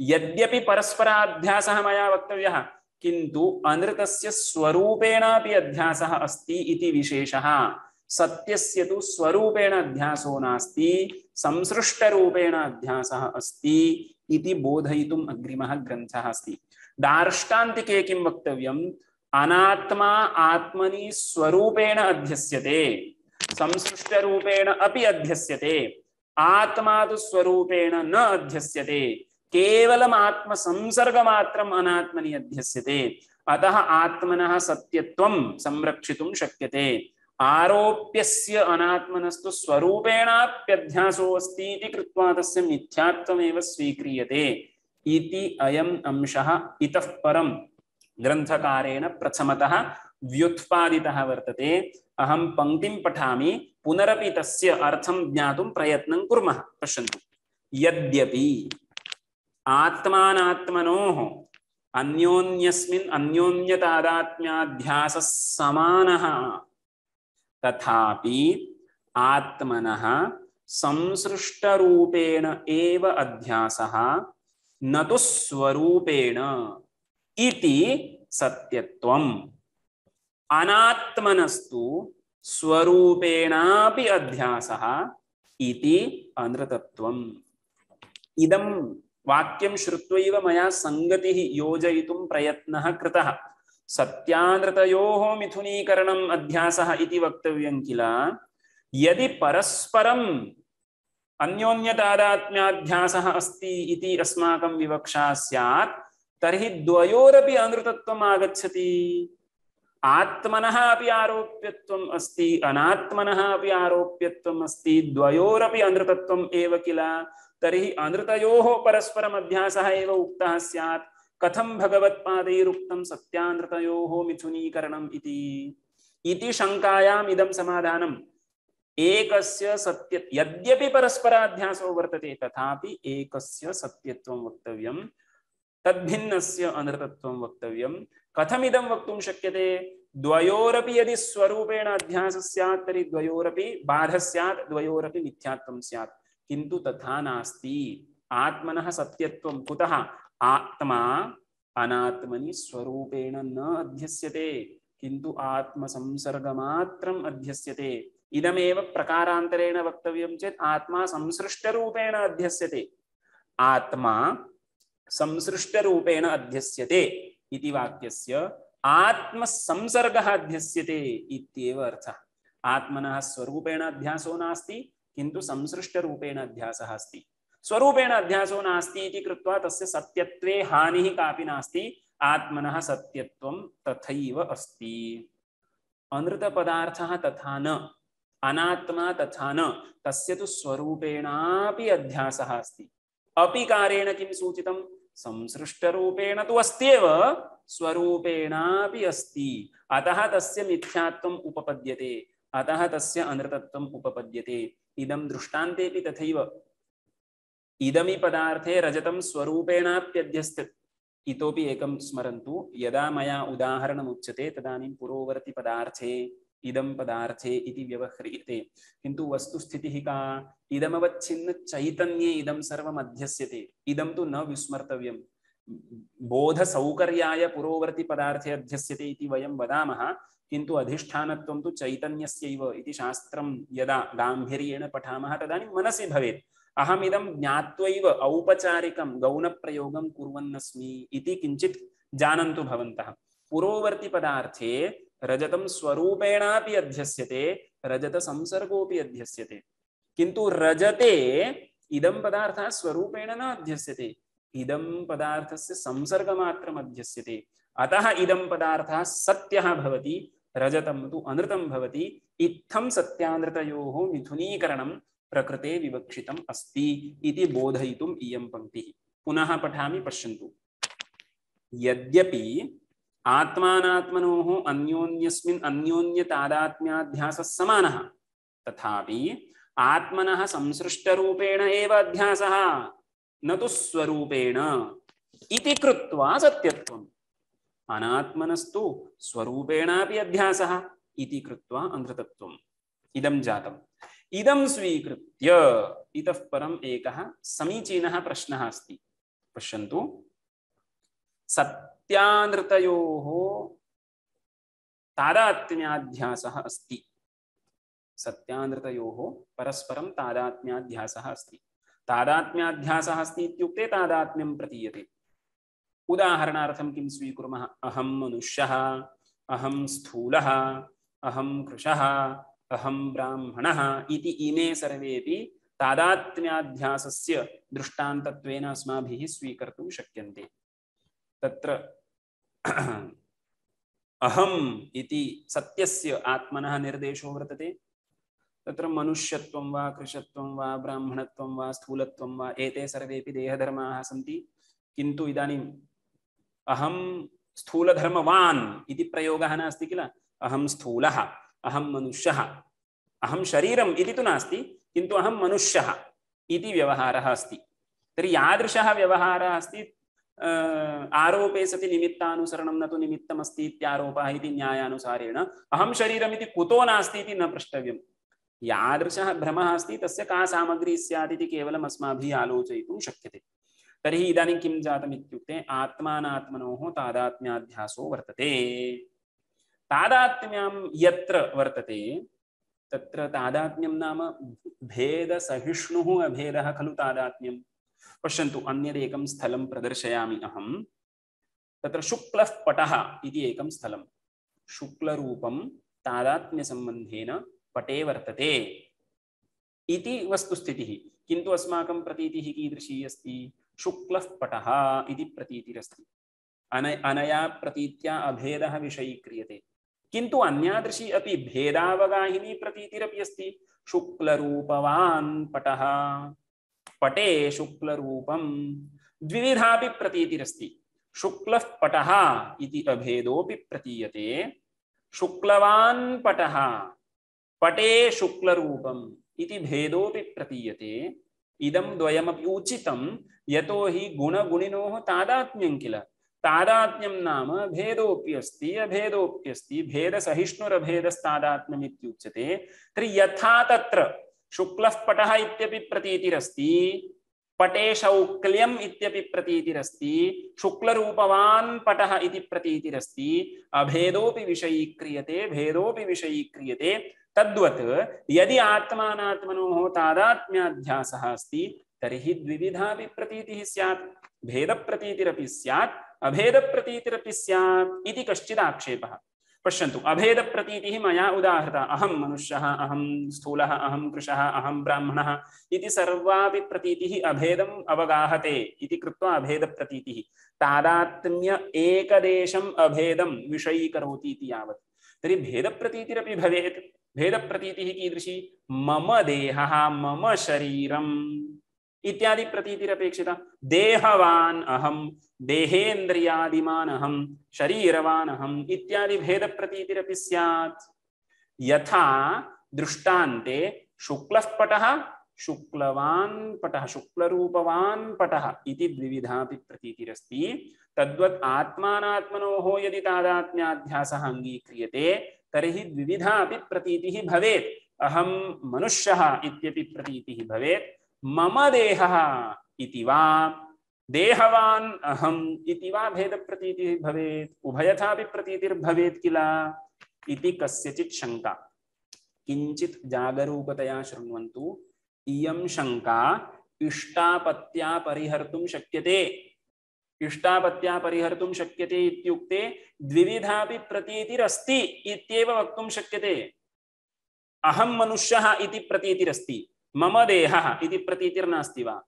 यद्यपि परस्पराध्यासः मया वक्तव्यः, किन्तु अनृतस्य स्वरूपेणापि अध्यासः अस्ति इति विशेषः। सत्यस्य तु स्वरूपेण अध्यासो नास्ति, संसृष्टरूपेण अध्यासः अस्ति इति बोधयितुम् अग्रिमः ग्रन्थः अस्ति। दार्ष्टान्तिके किं वक्तव्यम्? अनात्मा आत्मनि स्वरूपेण अध्यस्यते, संसृष्टरूपेण अपि अध्यस्यते। आत्मा तु स्वरूपेण न अध्यस्यते, केवलम् आत्म संसर्गमात्रम् अनात्मनि अध्यस्यते। अतः आत्मनः सत्यत्वं संरक्षितुं शक्यते। आरोप्यस्य अनात्मनस्तु स्वरूपेणाप्यध्यासो अस्ति इति कृत्वा तस्य मिथ्यात्वमेव स्वीक्रियते इति अयम् अंशः इतः परं ग्रन्थकारेण प्रथमतः व्युत्पादितः वर्तते। अहं पंक्तिं पठामि, पुनरपि तस्य अर्थं ज्ञातुं प्रयत्नं कुर्मः। पश्यन्तु, यद्यपि आत्मानात्मनोः अन्योन्यस्मिन् अन्योन्यतादात्म्याध्यासः समानः, तथापि आत्मनः संसृष्टरूपेण एव अध्यासः, न तु स्वरूपेण इति सत्यत्वम्। अनात्मनस्तु स्वरूपेणापि अध्यासः इति अनृतत्वम्। इदं वाक्यं श्रुत्वैव मया संगतिः योजयितुं प्रयत्नः कृतः। सत्यानृतयोः मिथुनीकरणम् अध्यासः इति वक्तव्यं किल। यदि परस्परम् अन्योन्यतादात्म्याध्यासः अस्ति इति अस्माकं विवक्षा स्यात्, तर्हि द्वयोरपि अनृतत्वम् आगच्छति। आत्मनः अपि आरोप्यत्वम् अस्ति, अनात्मनः अपि आरोप्यत्वम् अस्ति, द्वयोरपि अनृतत्वम् एव किल। तर्हि अनृतयोः परस्परम् अध्यासः एव उक्तः स्यात्। कथं भगवत्पादैरुक्तं सत्यानृतयोः मिथुनीकरणम् इति इति शङ्कायाम् इदं समाधानम्। एकस्य सत्य, यद्यपि परस्पराध्यासो वर्तते, तथापि एकस्य सत्यत्वं वक्तव्यं, तद्भिन्नस्य अनृतत्वं वक्तव्यं। कथमिदं वक्तुं शक्यते? द्वयोरपि यदि स्वरूपेण अध्यासः स्यात्, तर्हि द्वयोरपि बाधः स्यात्, द्वयोरपि मिथ्यात्वं स्यात्, किन्तु तथा नास्ति। आत्मनः सत्यत्वं कुतः? आत्मा अनात्मनि स्वरूपेण न अध्यस्यते, किन्तु आत्मसंसर्गमात्रम् अध्यस्यते। इदमेव प्रकारान्तरेण वक्तव्यं चेत् आत्मा संसृष्टरूपेण अध्यस्यते। आत्मा संसृष्टरूपेण अध्यस्यते इति वाक्यस्य आत्मसंसर्गः अध्यस्यते इत्येव अर्थः। आत्मनः स्वरूपेण अध्यासो नास्ति, किन्तु संसृष्टरूपेण अध्यासः अस्ति। स्वरूपेण अध्यासो नास्ति इति कृत्वा तस्य सत्यत्वे हानिः कापि नास्ति। आत्मनः सत्यत्वं तथैव अस्ति। अनृतपदार्थः तथा न, अनात्मा तथा न, तस्य तु स्वरूपेणापि अध्यासः अस्ति। अपि कारेण किं सूचितं? संसृष्टरूपेण तु अस्त्येव स्वरूपेणापि अस्ति अतः तस्य मिथ्यात्वम् उपपद्यते अतः तस्य अनृतत्वम् उपपद्यते इदं दृष्टान्तेपि तथैव इदमि पदार्थे रजतं स्वरूपेणाप्यध्यस्ते इतोपि एकं स्मरन्तु यदा मया उदाहरणम् उच्यते तदानीं पुरोवर्ति पदार्थे इदं पदार्थे इति व्यवह्रियते किन्तु वस्तुस्थितिः का इदमवच्छिन्न चैतन्ये इदं सर्वम् अध्यस्यते इदं तु न विस्मर्तव्यं बोधसौकर्याय पुरोवर्ति पदार्थे अध्यस्यते इति वयं वदामः किन्तु अधिष्ठानत्वं तु चैतन्यस्यैव इति शास्त्रं यदा गाम्भीर्येण पठामः तदानीं मनसि भवेत् अहमिदं ज्ञात्वैव औपचारिकं गौणप्रयोगं कुर्वन्नस्मि इति किञ्चित् जानन्तु भवन्तः पुरोवर्ति पदार्थे रजतं स्वरूपेणापि अध्यस्यते रजत संसर्गोऽपि अध्यस्यते किन्तु रजते इदं पदार्थः स्वरूपेण न अध्यस्यते इदं पदार्थस्य संसर्गमात्रम् अध्यस्यते अतः इदं पदार्थः सत्यः भवति रजतं तु अनृतं भवति इत्थं सत्यानृतयोः मिथुनीकरणं प्रकृते विवक्षितम् अस्ति इति बोधयितुम् इयं पंक्तिः पुनः पठामि पश्यन्तु यद्यपि आत्मानात्मनोः अन्योन्यस्मिन् अन्योन्यतादात्म्याध्यासः समानः तथापि आत्मनः संसृष्टरूपेण एव अध्यासः न तु स्वरूपेण इति कृत्वा सत्यत्वम् अनात्मनस्तु स्वरूपेणापि अध्यासः इति कृत्वा अनृतत्वम् इदं जातम् इदं स्वीकृत्य इतः परम् एकः समीचीनः प्रश्नः अस्ति पश्यन्तु सत्यानृतयोः तादात्म्याध्यासः अस्ति सत्यानृतयोः परस्परं तादात्म्याध्यासः अस्ति तादात्म्याध्यासः अस्ति इत्युक्ते तादात्म्यं प्रतीयते उदाहरणार्थं किं स्वीकुर्मः अहं मनुष्यः अहं स्थूलः अहं कृशः अहं ब्राह्मणः इति इमे सर्वेपि तादात्म्याध्यासस्य दृष्टान्तत्वेन अस्माभिः स्वीकर्तुं शक्यन्ते तत्र अहम् इति सत्यस्य आत्मनः निर्देशो वर्तते तत्र मनुष्यत्वं वा कृशत्वं वा ब्राह्मणत्वं वा स्थूलत्वं वा एते सर्वेपि देहधर्माः सन्ति किन्तु इदानीम् अहं स्थूलधर्मवान् इति प्रयोगः नास्ति किल अहं स्थूलः अहं मनुष्यः अहं शरीरम् इति तु नास्ति किन्तु अहं मनुष्यः इति व्यवहारः अस्ति तर्हि यादृशः व्यवहारः अस्ति आरोपे सति निमित्तानुसरणं न तु निमित्तमस्ति इत्यारोपः इति न्यायानुसारेण अहं शरीरमिति कुतो नास्ति इति न प्रष्टव्यं यादृशः भ्रमः अस्ति तस्य का सामग्री स्यात् इति केवलम् अस्माभिः आलोचयितुं शक्यते तर्हि इदानीं किं जातम् इत्युक्ते आत्मानात्मनोः तादात्म्याध्यासो वर्तते तादात्म्यं यत्र वर्तते तत्र तादात्म्यं नाम भेदसहिष्णुः अभेदः खलु तादात्म्यं पश्यन्तु अन्यदेकं स्थलं प्रदर्शयामि अहं तत्र शुक्लः पटः इति एकं स्थलं शुक्लरूपं तादात्म्यसम्बन्धेन पटे वर्तते इति वस्तुस्थितिः किन्तु अस्माकं प्रतीतिः कीदृशी अस्ति शुक्लः पटः इति प्रतीतिरस्ति अन अनया प्रतीत्या अभेदः विषयीक्रियते किन्तु अन्यादृशी अपि भेदावगाहिनी प्रतीतिरपि अस्ति शुक्लरूपवान् पटः पटे शुक्लरूपं द्विविधापि प्रतीतिरस्ति शुक्लः पटः इति अभेदोऽपि प्रतीयते शुक्लवान् पटः पटे शुक्लरूपम् इति भेदोऽपि प्रतीयते इदं द्वयमपि उचितं यतो हि गुणगुणिनोः तादात्म्यं किल तादात्म्यं नाम भेदोऽप्यस्ति अभेदोऽप्यस्ति भेदसहिष्णुरभेदस्तादात्म्यम् इत्युच्यते तर्हि यथा तत्र शुक्लः पटः इत्यपि प्रतीतिरस्ति पटे शौक्ल्यम् इत्यपि प्रतीतिरस्ति शुक्लरूपवान् पटः इति प्रतीतिरस्ति अभेदोऽपि विषयीक्रियते भेदोऽपि विषयीक्रियते तद्वत् यदि आत्मानात्मनोः तादात्म्याध्यासः अस्ति तर्हि द्विविधापि प्रतीतिः स्यात् भेदप्रतीतिरपि स्यात् अभेदप्रतीतिरपि स्यात् इति कश्चित् आक्षेपः पश्यन्तु अभेदप्रतीतिः मया उदाहृता अहं मनुष्यः अहं स्थूलः अहं कृशः अहं ब्राह्मणः इति सर्वापि प्रतीतिः अभेदम् अवगाहते इति कृत्वा अभेदप्रतीतिः तादात्म्य एकदेशम् अभेदं विषयीकरोति इति यावत् तर्हि भेदप्रतीतिरपि भवेत् भेदप्रतीतिः कीदृशी मम देहः मम शरीरम् इत्यादि प्रतीतिरपेक्षिता। देहवान अहम, देहेन्द्रियादिमान अहम, शरीरवान अहम इत्यादि भेद प्रतीतिरपि स्यात्। यथा दृष्टान्ते शुक्लः पटः, शुक्लवान् पटः, शुक्लरूपवान् पटः इति द्विविधापि प्रतीतिरस्ति। तद्वत् आत्मानात्मनोः यदि तादात्म्याध्यासः अङ्गीक्रियते तर्हि द्विविधापि प्रतीतिः भवेत्। अहं मनुष्यः इत्यपि प्रतीतिः भवेत्, मम देहः इति वा देहवान् अहम् इति वा भेदप्रतीतिः भवेत्। उभयथापि प्रतीतिर्भवेत् किल इति कस्यचित् शङ्का। किञ्चित् जागरूकतया शृण्वन्तु। इयं शङ्का इष्टापत्या परिहर्तुं शक्यते। इष्टापत्या परिहर्तुं शक्यते इत्युक्ते द्विविधापि प्रतीतिरस्ति इत्येव वक्तुं शक्यते। अहं मनुष्यः इति प्रतीतिरस्ति, मम देहः इति प्रतीतिर्नास्ति वा?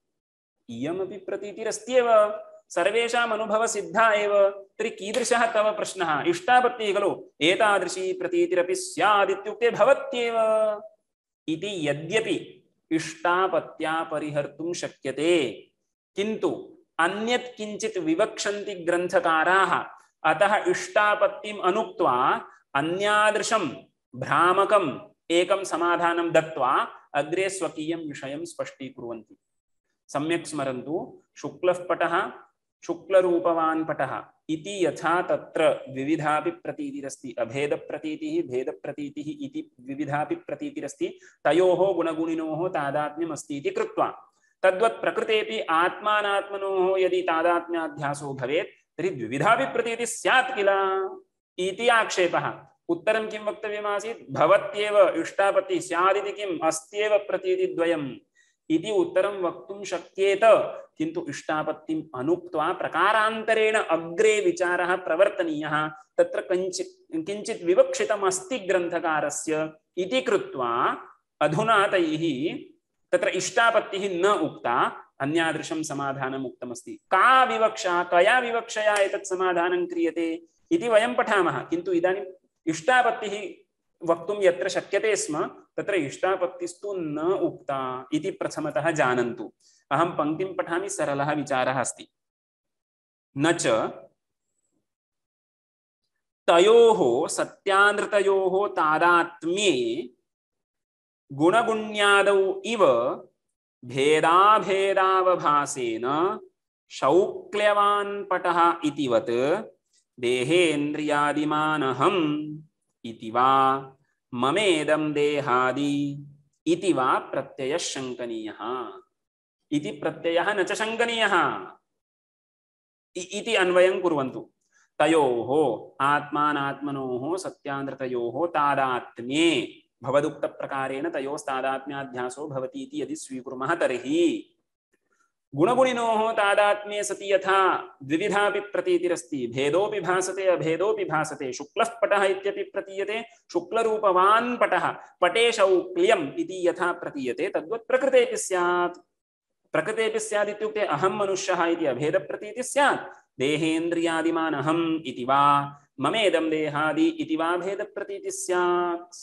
इयमपि प्रतीतिरस्त्येव, सर्वेषाम् अनुभवसिद्धा एव। तर्हि कीदृशः तव प्रश्नः? इष्टापत्तिः खलु, एतादृशी प्रतीतिरपि स्यात् इत्युक्ते भवत्येव इति। यद्यपि इष्टापत्या परिहर्तुं शक्यते, किन्तु अन्यत् किञ्चित् विवक्षन्ति ग्रन्थकाराः। अतः इष्टापत्तिम् अनुक्त्वा अन्यादृशं भ्रामकम् एकं समाधानं दत्त्वा अग्रे स्वकीयं विषयं स्पष्टीकुर्वन्ति। सम्यक् स्मरन्तु। शुक्लः पटः, शुक्लरूपवान् पटः इति यथा तत्र द्विविधापि प्रतीतिरस्ति, अभेदप्रतीतिः भेदप्रतीतिः इति द्विविधापि प्रतीतिरस्ति, तयोः गुणगुणिनोः तादात्म्यम् अस्ति इति कृत्वा, तद्वत् प्रकृतेपि आत्मानात्मनोः यदि तादात्म्याध्यासो भवेत् तर्हि द्विविधापि प्रतीतिः स्यात् किल इति आक्षेपः। उत्तरं किं वक्तव्यमासीत्? भवत्येव इष्टापत्तिः स्यादिति किम्, अस्त्येव प्रतीतिद्वयम् इति उत्तरं वक्तुं शक्येत। किन्तु इष्टापत्तिम् अनुक्त्वा प्रकारान्तरेण अग्रे विचारः प्रवर्तनीयः। तत्र किञ्चित् किञ्चित् विवक्षितम् अस्ति ग्रन्थकारस्य इति कृत्वा अधुना तैः तत्र इष्टापत्तिः न उक्ता, अन्यादृशं समाधानम् उक्तमस्ति। का विवक्षा, कया विवक्षया एतत् समाधानं क्रियते इति वयं पठामः। किन्तु इदानीम् इष्टापत्तिः वक्तुं यत्र शक्यते स्म तत्र इष्टापत्तिस्तु न उक्ता इति प्रथमतः जानन्तु। अहं पङ्क्तिं पठामि, सरलः विचारः अस्ति। न च तयोः सत्यानृतयोः तादात्म्ये गुणगुण्यादौ इव भेदाभेदावभासेन शौक्ल्यवान् पटः इतिवत् देहेन्द्रियादिमानहम् इति वा ममेदं देहादि इति वा प्रत्ययः शङ्कनीयः। इति प्रत्ययः न च शङ्कनीयः इति अन्वयं कुर्वन्तु। तयोः आत्मानात्मनोः सत्यानृतयोः तादात्म्ये भवदुक्तप्रकारेण तयोस्तादात्म्याध्यासो भवति इति यदि स्वीकुर्मः तर्हि गुणगुणिनोः तादात्म्ये सति यथा द्विविधापि प्रतीतिरस्ति, भेदोपि भासते अभेदोपि भासते। शुक्लः पटः इत्यपि प्रतीयते, शुक्लरूपवान् पटः, पटे शौक्ल्यम् इति यथा प्रतीयते तद्वत् प्रकृतेपि स्यात्। प्रकृतेपि स्यात् इत्युक्ते अहं मनुष्यः इति अभेदप्रतीतिः स्यात्, देहेन्द्रियादिमान् अहम् इति वा ममेदं देहादि इति वा भेदप्रतीतिः स्यात्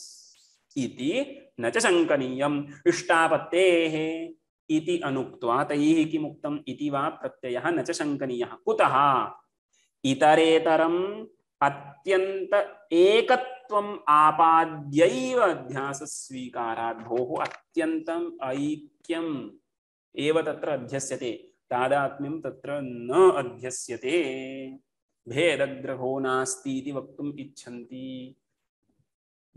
इति न च शङ्कनीयम्। इष्टापत्तेः इति अनुक्त्वा तैः किमुक्तम् इति वा प्रत्ययः न च शङ्कनीयः। कुतः? इतरेतरम् अत्यन्त एकत्वम् आपाद्यैव अध्यासस्वीकारात्। भोः, अत्यन्तम् ऐक्यम् एव तत्र अध्यस्यते, तादात्म्यं तत्र न अध्यस्यते। भेदग्रहो नास्ति इति वक्तुम् इच्छन्ति।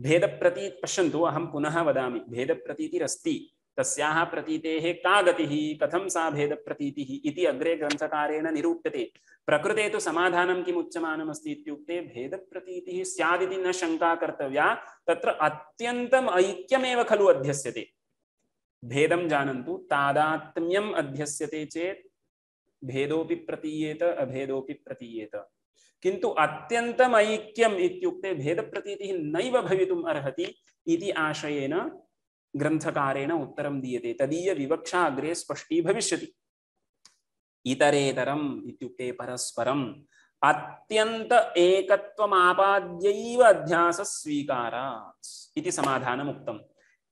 भेदप्रती पश्यन्तु, अहं पुनः वदामि, भेदप्रतीतिरस्ति, तस्याः प्रतीतेः का गतिः, कथं सा भेदप्रतीतिः इति अग्रे ग्रन्थकारेण निरूप्यते। प्रकृते तु समाधानं किम् उच्यमानमस्ति इत्युक्ते भेदप्रतीतिः स्यादिति न शङ्का कर्तव्या, तत्र अत्यन्तम् ऐक्यमेव खलु अध्यस्यते। भेदं जानन्तु, तादात्म्यम् अध्यस्यते चेत् भेदोपि प्रतीयेत अभेदोपि प्रतीयेत, किन्तु अत्यन्तम् ऐक्यम् इत्युक्ते भेदप्रतीतिः नैव भवितुम् अर्हति इति आशयेन ग्रन्थकारेण उत्तरं दीयते। तदीय विवक्षा अग्रे स्पष्टी भविष्यति। इतरेतरम् इत्युक्ते परस्परम् अत्यन्त एकत्वमापाद्यैव अध्यासस्वीकारात् इति समाधानम् उक्तम्।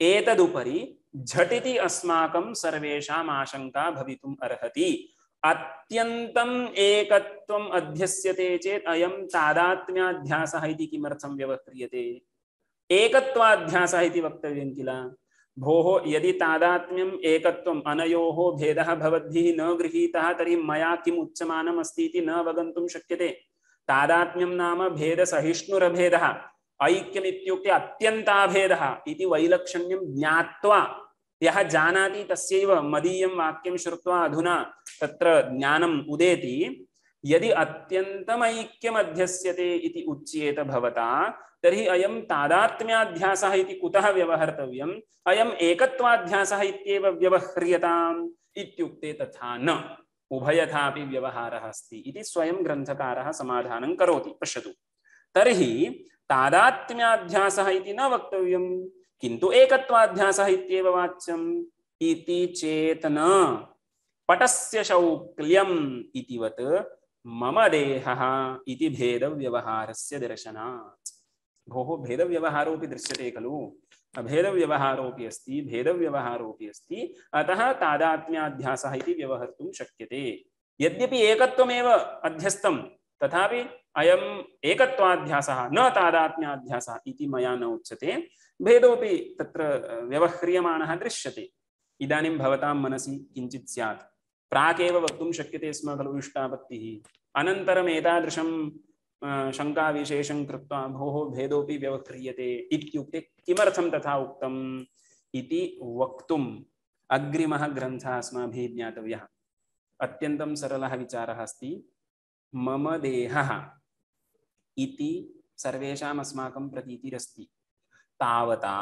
एतदुपरि झटिति अस्माकं सर्वेषाम् आशंका भवितुम् अर्हति। अत्यन्तम् एकत्वम् अध्यस्यते चेत् अयं तादात्म्याध्यासः इति किमर्थं व्यवह्रियते? एकत्वाध्यासः इति वक्तव्यं किल। भोः यदि तादात्म्यम् एकत्वम् अनयोः भेदः भवद्भिः न गृहीतः तर्हि मया किम् उच्यमानम् अस्ति इति न अवगन्तुं शक्यते। तादात्म्यं नाम भेदसहिष्णुरभेदः, ऐक्यम् इत्युक्ते अत्यन्ताभेदः इति वैलक्षण्यं ज्ञात्वा यः जानाति तस्यैव मदीयं वाक्यं श्रुत्वा अधुना तत्र ज्ञानम् उदेति। यदि अत्यन्तमैक्यम् अध्यस्यते इति उच्येत भवता तर्हि अयं तादात्म्याध्यासः इति कुतः व्यवहर्तव्यम्, अयम् एकत्वाध्यासः इत्येव व्यवह्रियताम् इत्युक्ते तथा न, उभयथापि व्यवहारः अस्ति इति स्वयं ग्रन्थकारः समाधानं करोति। पश्यतु, तर्हि तादात्म्याध्यासः इति न वक्तव्यं किन्तु एकत्वाध्यासः इत्येव वाच्यम् इति चेत् न। पटस्य शौक्ल्यम् इतिवत् मम देहः इति भेदव्यवहारस्य दर्शनात्। भोः भेदव्यवहारोऽपि दृश्यते खलु, अभेदव्यवहारोऽपि अस्ति, भेदव्यवहारोऽपि अस्ति, अतः तादात्म्याध्यासः इति व्यवहर्तुं शक्यते। यद्यपि एकत्वमेव अध्यस्तं तथापि अयम् एकत्वाध्यासः न तादात्म्याध्यासः इति मया न उच्यते, भेदोऽपि तत्र व्यवह्रियमाणः दृश्यते। इदानीं भवतां मनसि किञ्चित् स्यात्, प्राकेव वक्तुं शक्यते स्म खलु इष्टापत्तिः, अनन्तरम् एतादृशं शङ्काविशेषं कृत्वा भोः भेदोऽपि व्यवह्रियते इत्युक्ते किमर्थं तथा उक्तम् इति वक्तुम् अग्रिमः ग्रन्थः अस्माभिः ज्ञातव्यः। अत्यन्तं सरलः विचारः अस्ति। मम देहः इति सर्वेषाम् अस्माकं प्रतीतिरस्ति, तावता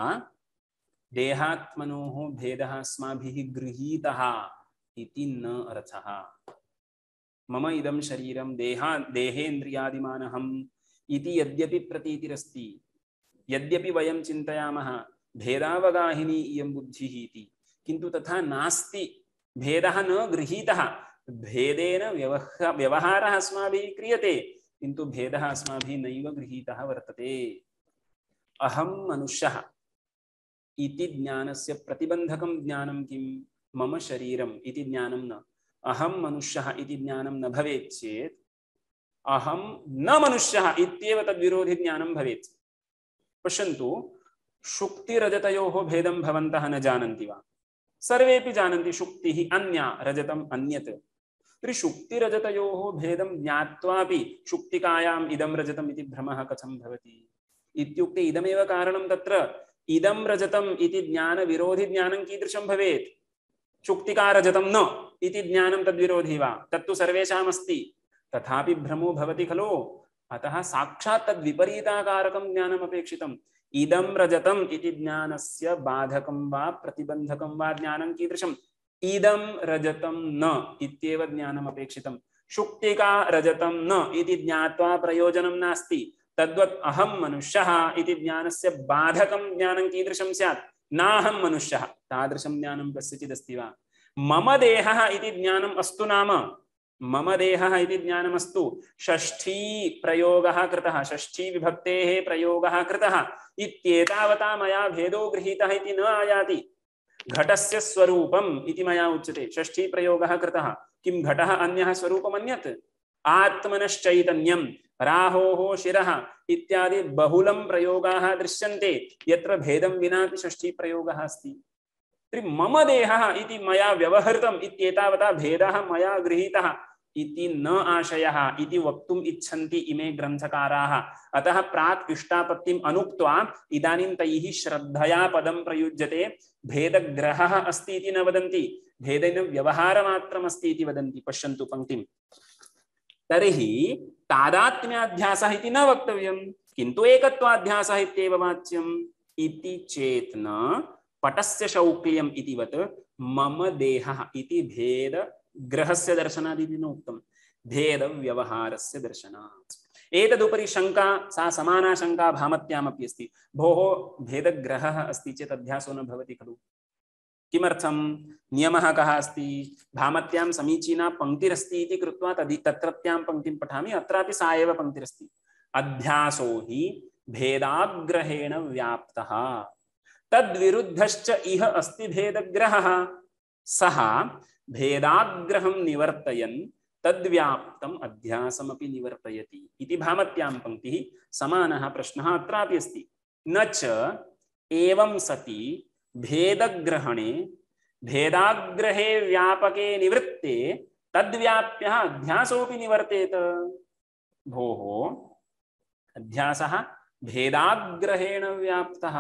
देहात्मनोः भेदः अस्माभिः गृहीतः इति न अर्थः। मम इदं शरीरं देहा देहेन्द्रियादिमानहम् इति यद्यपि प्रतीतिरस्ति, यद्यपि वयं चिन्तयामः भेदावगाहिनी इयं बुद्धिः इति, किन्तु तथा नास्ति। भेदः न गृहीतः, भेदेन व्यवह व्यवहारः अस्माभिः क्रियते, किन्तु भेदः अस्माभिः नैव गृहीतः वर्तते। अहं मनुष्यः इति ज्ञानस्य प्रतिबन्धकं ज्ञानं किं? मम शरीरम् इति ज्ञानं न। अहं मनुष्यः इति ज्ञानं न भवेत् चेत् अहं न मनुष्यः इत्येव तद्विरोधि ज्ञानं भवेत्। पश्यन्तु, शुक्तिरजतयोः भेदं भवन्तः न जानन्ति वा? सर्वेपि जानन्ति, शुक्तिः अन्या, रजतम् अन्यत्। तर्हि शुक्तिरजतयोः भेदं ज्ञात्वापि शुक्तिकायाम् इदं रजतम् इति भ्रमः कथं भवति इत्युक्ते इदमेव कारणं। तत्र इदं रजतम् इति ज्ञानविरोधि ज्ञानं कीदृशं भवेत्? शुक्तिका रजतं न इति ज्ञानं तद्विरोधी वा? तत्तु सर्वेषाम् अस्ति, तथापि भ्रमो भवति खलु। अतः साक्षात् तद्विपरीताकारकं ज्ञानम् अपेक्षितम्। इदं रजतम् इति ज्ञानस्य बाधकं वा प्रतिबन्धकं वा ज्ञानं कीदृशम्? इदं रजतं न इत्येव ज्ञानम् अपेक्षितम्। शुक्तिका रजतं न इति ज्ञात्वा प्रयोजनं नास्ति। तद्वत् अहं मनुष्यः इति ज्ञानस्य बाधकं ज्ञानं कीदृशं स्यात्? नाहं मनुष्यः, तादृशं ज्ञानं कस्यचित् अस्ति वा? मम देहः इति ज्ञानम् अस्तु नाम, मम देहः इति ज्ञानमस्तु, षष्ठी प्रयोगः कृतः, षष्ठी विभक्तेः प्रयोगः कृतः इत्येतावता मया भेदो गृहीतः इति न आयाति। घटस्य स्वरूपम् इति मया उच्यते, षष्ठी प्रयोगः कृतः। किं घटः अन्यः स्वरूपम् अन्यत्? आत्मनश्चैतन्यं, राहोः शिरः इत्यादि बहुलं प्रयोगाः दृश्यन्ते, यत्र भेदं विनापि षष्ठी प्रयोगः अस्ति। तर्हि मम देहः इति मया व्यवहृतम् इत्येतावता भेदः मया गृहीतः इति न आशयः इति वक्तुम् इच्छन्ति इमे ग्रन्थकाराः। अतः प्राक् इष्टापत्तिम् अनुक्त्वा इदानीं तैः श्रद्धया पदं प्रयुज्यते। भेदग्रहः अस्ति इति न वदन्ति, भेदेन व्यवहारमात्रमस्ति इति वदन्ति। पश्यन्तु पङ्क्तिम्। तर्हि तादात्म्याध्यासः इति न वक्तव्यं, किन्तु एकत्वाध्यासः इत्येव वाच्यम् इति चेत् न। पटस्य शौक्ल्यम् इतिवत् मम देहः इति भेद ग्रहस्य दर्शनादिति न उक्तं, भेद व्यवहारस्य दर्शनात्। एतदुपरि शङ्का, सा समाना शङ्का भामत्यामपि अस्ति। भोः भेदग्रहः अस्ति चेत् अध्यासो न भवति खलु? किमर्थं? नियमः कः अस्ति? भामत्यां समीचीना पङ्क्तिरस्ति इति कृत्वा तदि तत्रत्यां पङ्क्तिं पठामि, अत्रापि सा एव पङ्क्तिरस्ति। अध्यासो हि भेदाग्रहेण व्याप्तः। तद्विरुद्धश्च इह अस्ति भेदग्रहः सः भेदाग्रहं निवर्तयन् तद्व्याप्तम् अध्यासमपि निवर्तयति इति भामत्यां पंक्तिः समानः प्रश्नः अत्रापि अस्ति। न च एवं सति भेदग्रहणे भेदाग्रहे व्यापके निवृत्ते तद्व्याप्यः अध्यासोऽपि निवर्तेत। भोः अध्यासः भेदाग्रहेण व्याप्तः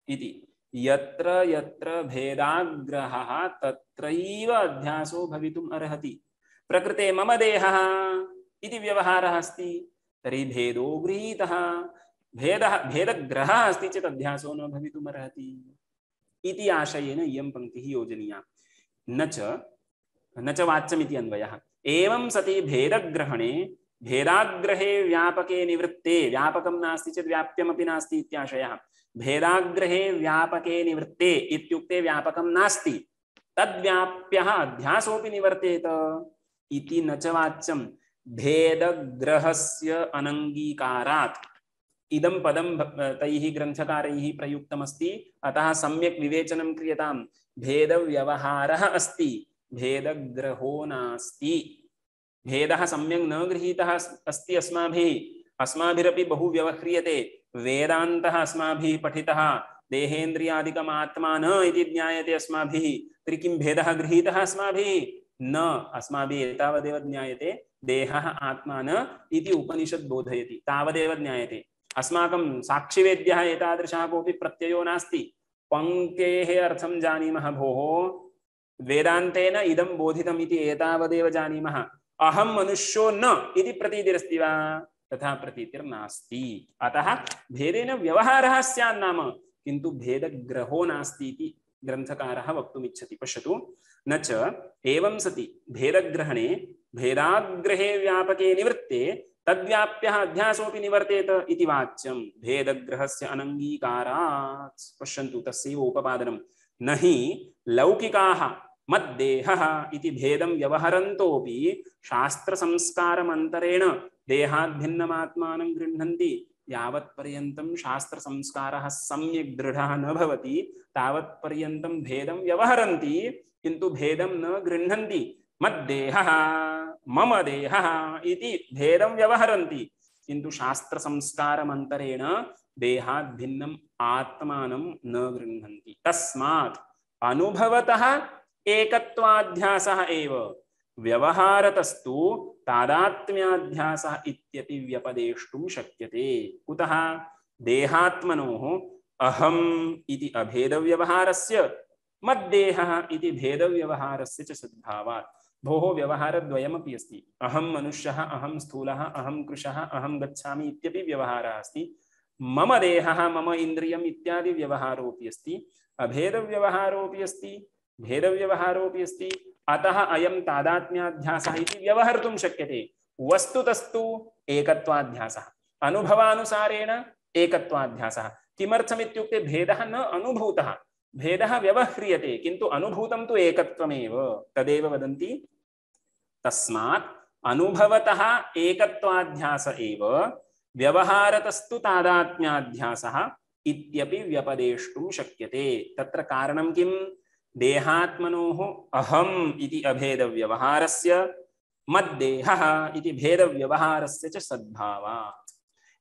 इति यत्र यत्र भेदाग्रहः तत्रैव अध्यासो भवितुम् अर्हति। प्रकृते मम देहः इति व्यवहारः अस्ति तर्हि भेदो गृहीतः, भेदः भेदग्रहः अस्ति चेत् अध्यासो न भवितुम् अर्हति इति आशयेन इयं पंक्तिः योजनीया। न च न च वाच्यमिति अन्वयः। एवं सति भेदग्रहणे भेदाग्रहे व्यापके निवृत्ते, व्यापकं नास्ति चेत् व्याप्यमपि नास्ति इत्याशयः। भेदाग्रहे व्यापके निवृत्ते इत्युक्ते व्यापकं नास्ति, तद्व्याप्यः अध्यासोऽपि निवर्तेत इति न च वाच्यं। भेदग्रहस्य अनङ्गीकारात् इदं पदं तैः ग्रन्थकारैः प्रयुक्तमस्ति, अतः सम्यक् विवेचनं क्रियतां। भेदव्यवहारः अस्ति, भेदग्रहो नास्ति। भेदः सम्यक् न गृहीतः अस्ति अस्माभिः, अस्माभिरपि बहु व्यवह्रियते। वेदान्तः अस्माभिः पठितः, देहेन्द्रियादिकम् आत्मा न इति ज्ञायते अस्माभिः, तर्हि किं भेदः गृहीतः अस्माभिः? न, अस्माभिः एतावदेव ज्ञायते देहः आत्मा न इति उपनिषत् बोधयति, तावदेव ज्ञायते। अस्माकं साक्षिवेद्यः एतादृशः कोऽपि प्रत्ययो नास्ति। पंक्तेः अर्थं जानीमः, भोः वेदान्तेन इदं बोधितम् इति एतावदेव जानीमः। अहं मनुष्यो न इति प्रतीतिरस्ति वा? तथा प्रतीतिर्नास्ति। अतः भेदेन व्यवहारः स्यात् नाम, किन्तु भेदग्रहो नास्ति इति ग्रन्थकारः वक्तुमिच्छति। पश्यतु, न च एवं सति भेदग्रहणे भेदाग्रहे व्यापके निवृत्ते तद्व्याप्यः अध्यासोऽपि निवर्तेत इति वाच्यं। भेदग्रहस्य अनङ्गीकारात्, पश्यन्तु तस्यैव उपपादनं। न हि लौकिकाः मद्देहः इति भेदं व्यवहरन्तोऽपि शास्त्रसंस्कारमन्तरेण देहाद्भिन्नमात्मानं गृह्णन्ति। यावत्पर्यन्तं शास्त्रसंस्कारः सम्यक् दृढः न भवति तावत्पर्यन्तं भेदं व्यवहरन्ति, किन्तु भेदं न गृह्णन्ति। मद्देहः मम देहः इति भेदं व्यवहरन्ति, किन्तु शास्त्रसंस्कारमन्तरेण देहाद्भिन्नम् आत्मानं न गृह्णन्ति। तस्मात् अनुभवतः एकत्वाध्यासः एव, व्यवहारतस्तु तादात्म्याध्यासः इत्यपि व्यपदेष्टुं शक्यते। कुतः? देहात्मनोः अहम् इति अभेदव्यवहारस्य मद्देहः इति भेदव्यवहारस्य च सद्भावात्। भोः व्यवहारद्वयमपि अस्ति। अहं मनुष्यः, अहं स्थूलः, अहं कृशः, अहं गच्छामि इत्यपि व्यवहारः अस्ति। मम देहः, मम इन्द्रियम् इत्यादि व्यवहारोऽपि अस्ति, अभेदव्यवहारोऽपि अस्ति, भेदव्यवहारोऽपि अस्ति। अतः अयं तादात्म्याध्यासः इति व्यवहर्तुं शक्यते। वस्तुतस्तु एकत्वाध्यासः, अनुभवानुसारेण एकत्वाध्यासः। किमर्थमित्युक्ते भेदः न अनुभूतः, भेदः व्यवह्रियते, किन्तु अनुभूतं तु एकत्वमेव। तदेव वदन्ति, तस्मात् अनुभवतः एकत्वाध्यास एव व्यवहारतस्तु तादात्म्याध्यासः इत्यपि व्यपदेष्टुं शक्यते। तत्र कारणं किं? देहात्मनोः अहम् इति अभेदव्यवहारस्य मद्देहः इति भेदव्यवहारस्य च सद्भावात्।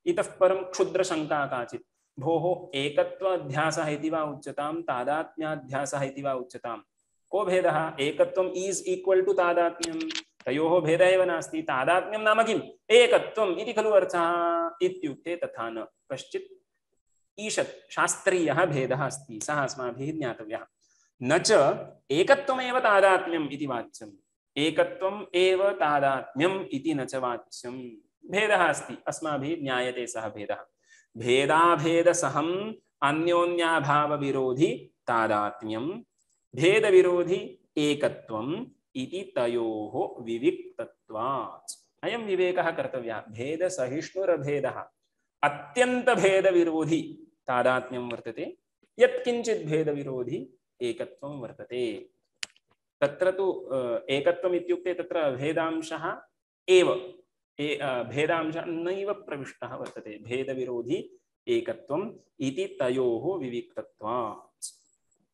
इतः परं क्षुद्रशङ्का काचित्, भोः एकत्वाध्यासः इति वा उच्यतां तादात्म्याध्यासः इति वा उच्यतां, को भेदः? एकत्वम् इस् इक्वल् टु तादात्म्यं, तयोः भेदः एव नास्ति। तादात्म्यं नाम किम्? एकत्वम् इति खलु अर्थः। इत्युक्ते तथा न, कश्चित् ईषत् शास्त्रीयः भेदः अस्ति, सः अस्माभिः ज्ञातव्यः। न च एकत्वमेव तादात्म्यम् इति वाच्यम्, एकत्वम् एव तादात्म्यम् इति न च वाच्यम्। भेदः अस्ति, अस्माभिः ज्ञायते सः भेदः। भेदाभेदसहम् अन्योन्याभावविरोधि तादात्म्यं, भेदविरोधि एकत्वम् इति तयोः विविक्तत्वात्। अयं विवेकः कर्तव्यः। भेदसहिष्णुरभेदः अत्यन्तभेदविरोधि तादात्म्यं वर्तते, यत्किञ्चित् भेदविरोधि एकत्वं वर्तते। तत्र तु एकत्वम् इत्युक्ते तत्र भेदांशः एव, भेदांशः नैव प्रविष्टः वर्तते। भेदविरोधि एकत्वम् इति तयोः विविक्तत्वात्।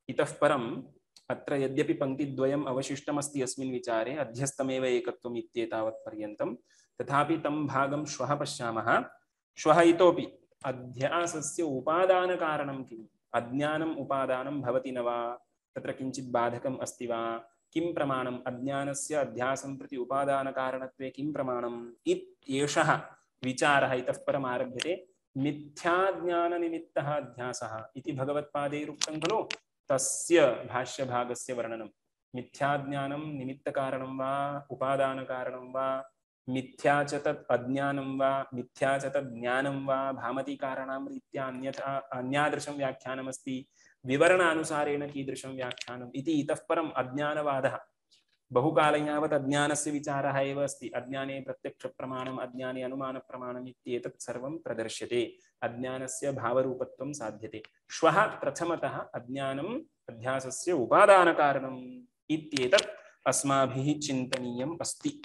इतः परम् अत्र यद्यपि पङ्क्तिद्वयम् अवशिष्टमस्ति अस्मिन् विचारे अध्यस्तमेव एकत्वम् इत्येतावत् पर्यन्तं, तथापि तं भागं श्वः पश्यामः। श्वः इतोपि अध्यासस्य उपादानकारणं किम्? अज्ञानम् उपादानं भवति न वा? तत्र किञ्चित् बाधकम् अस्ति वा? किं प्रमाणम्? अज्ञानस्य अध्यासं प्रति उपादानकारणत्वे किं प्रमाणम्? इत्येषः विचारः इतः परम् आरभ्यते। मिथ्याज्ञाननिमित्तः अध्यासः इति भगवत्पादैरुक्तं खलु, तस्य भाष्यभागस्य वर्णनं। मिथ्याज्ञानं निमित्तकारणं वा उपादानकारणं वा, मिथ्या च तत् अज्ञानं वा मिथ्या च तत् ज्ञानं वा भामती कारणां रीत्या अन्यथा अन्यादृशं व्याख्यानमस्ति, विवरणानुसारेण कीदृशं व्याख्यानम् इति इतः परम् अज्ञानवादः। बहुकालं यावत् अज्ञानस्य विचारः एव अस्ति। अज्ञाने प्रत्यक्षप्रमाणम्, अज्ञाने अनुमानप्रमाणम् इत्येतत् सर्वं प्रदर्श्यते। अज्ञानस्य भावरूपत्वं साध्यते। श्वः प्रथमतः अज्ञानम् अध्यासस्य उपादानकारणम् इत्येतत् अस्माभिः चिन्तनीयम् अस्ति।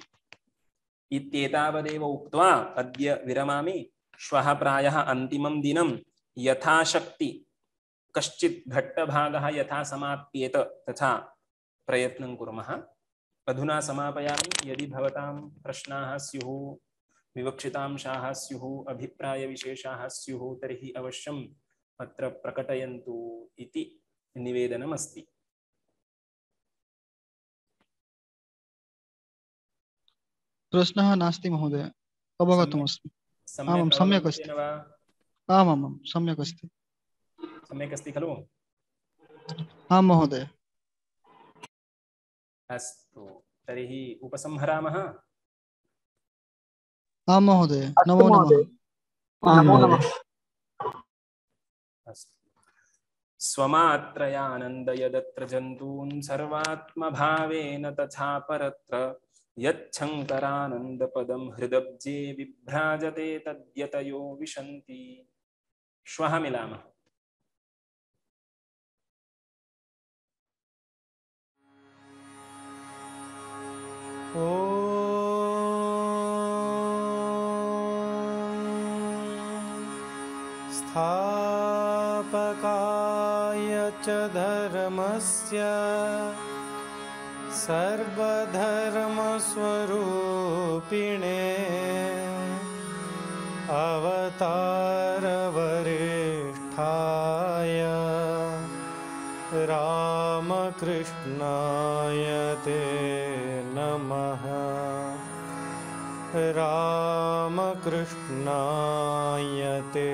इत्येतावदेव उक्त्वा अद्य विरमामि। श्वः प्रायः अन्तिमं दिनं यथाशक्ति कश्चित् घट्टभागः यथा समाप्येत तथा प्रयत्नं कुर्मः। अधुना समापयामि। यदि भवतां प्रश्नाः स्युः, विवक्षितांशाः स्युः, अभिप्रायविशेषाः स्युः तर्हि अवश्यम् अत्र प्रकटयन्तु इति निवेदनमस्ति। प्रश्नः नास्ति महोदय, अवगतमस्मि। आमां सम्यक् अस्ति। आमां सम्यक् अस्ति। सम्यक् अस्ति खलु? आं महोदय। अस्तु, तर्हि उपसंहरामः। आं महोदय, नमो नमः। अस्तु। स्वमात्रयानन्दयदत्र जन्तून् सर्वात्मभावेन तथा परत्र यच्छङ्करानन्दपदं हृदब्जे विभ्राजते तद्यतयो विशन्ति। श्वः मिलामः। स्थापकाय च धर्मस्य सर्वधर्मस्वरूपिणे अवतारवरिष्ठाय रामकृष्णाय ते नमः। रामकृष्णाय ते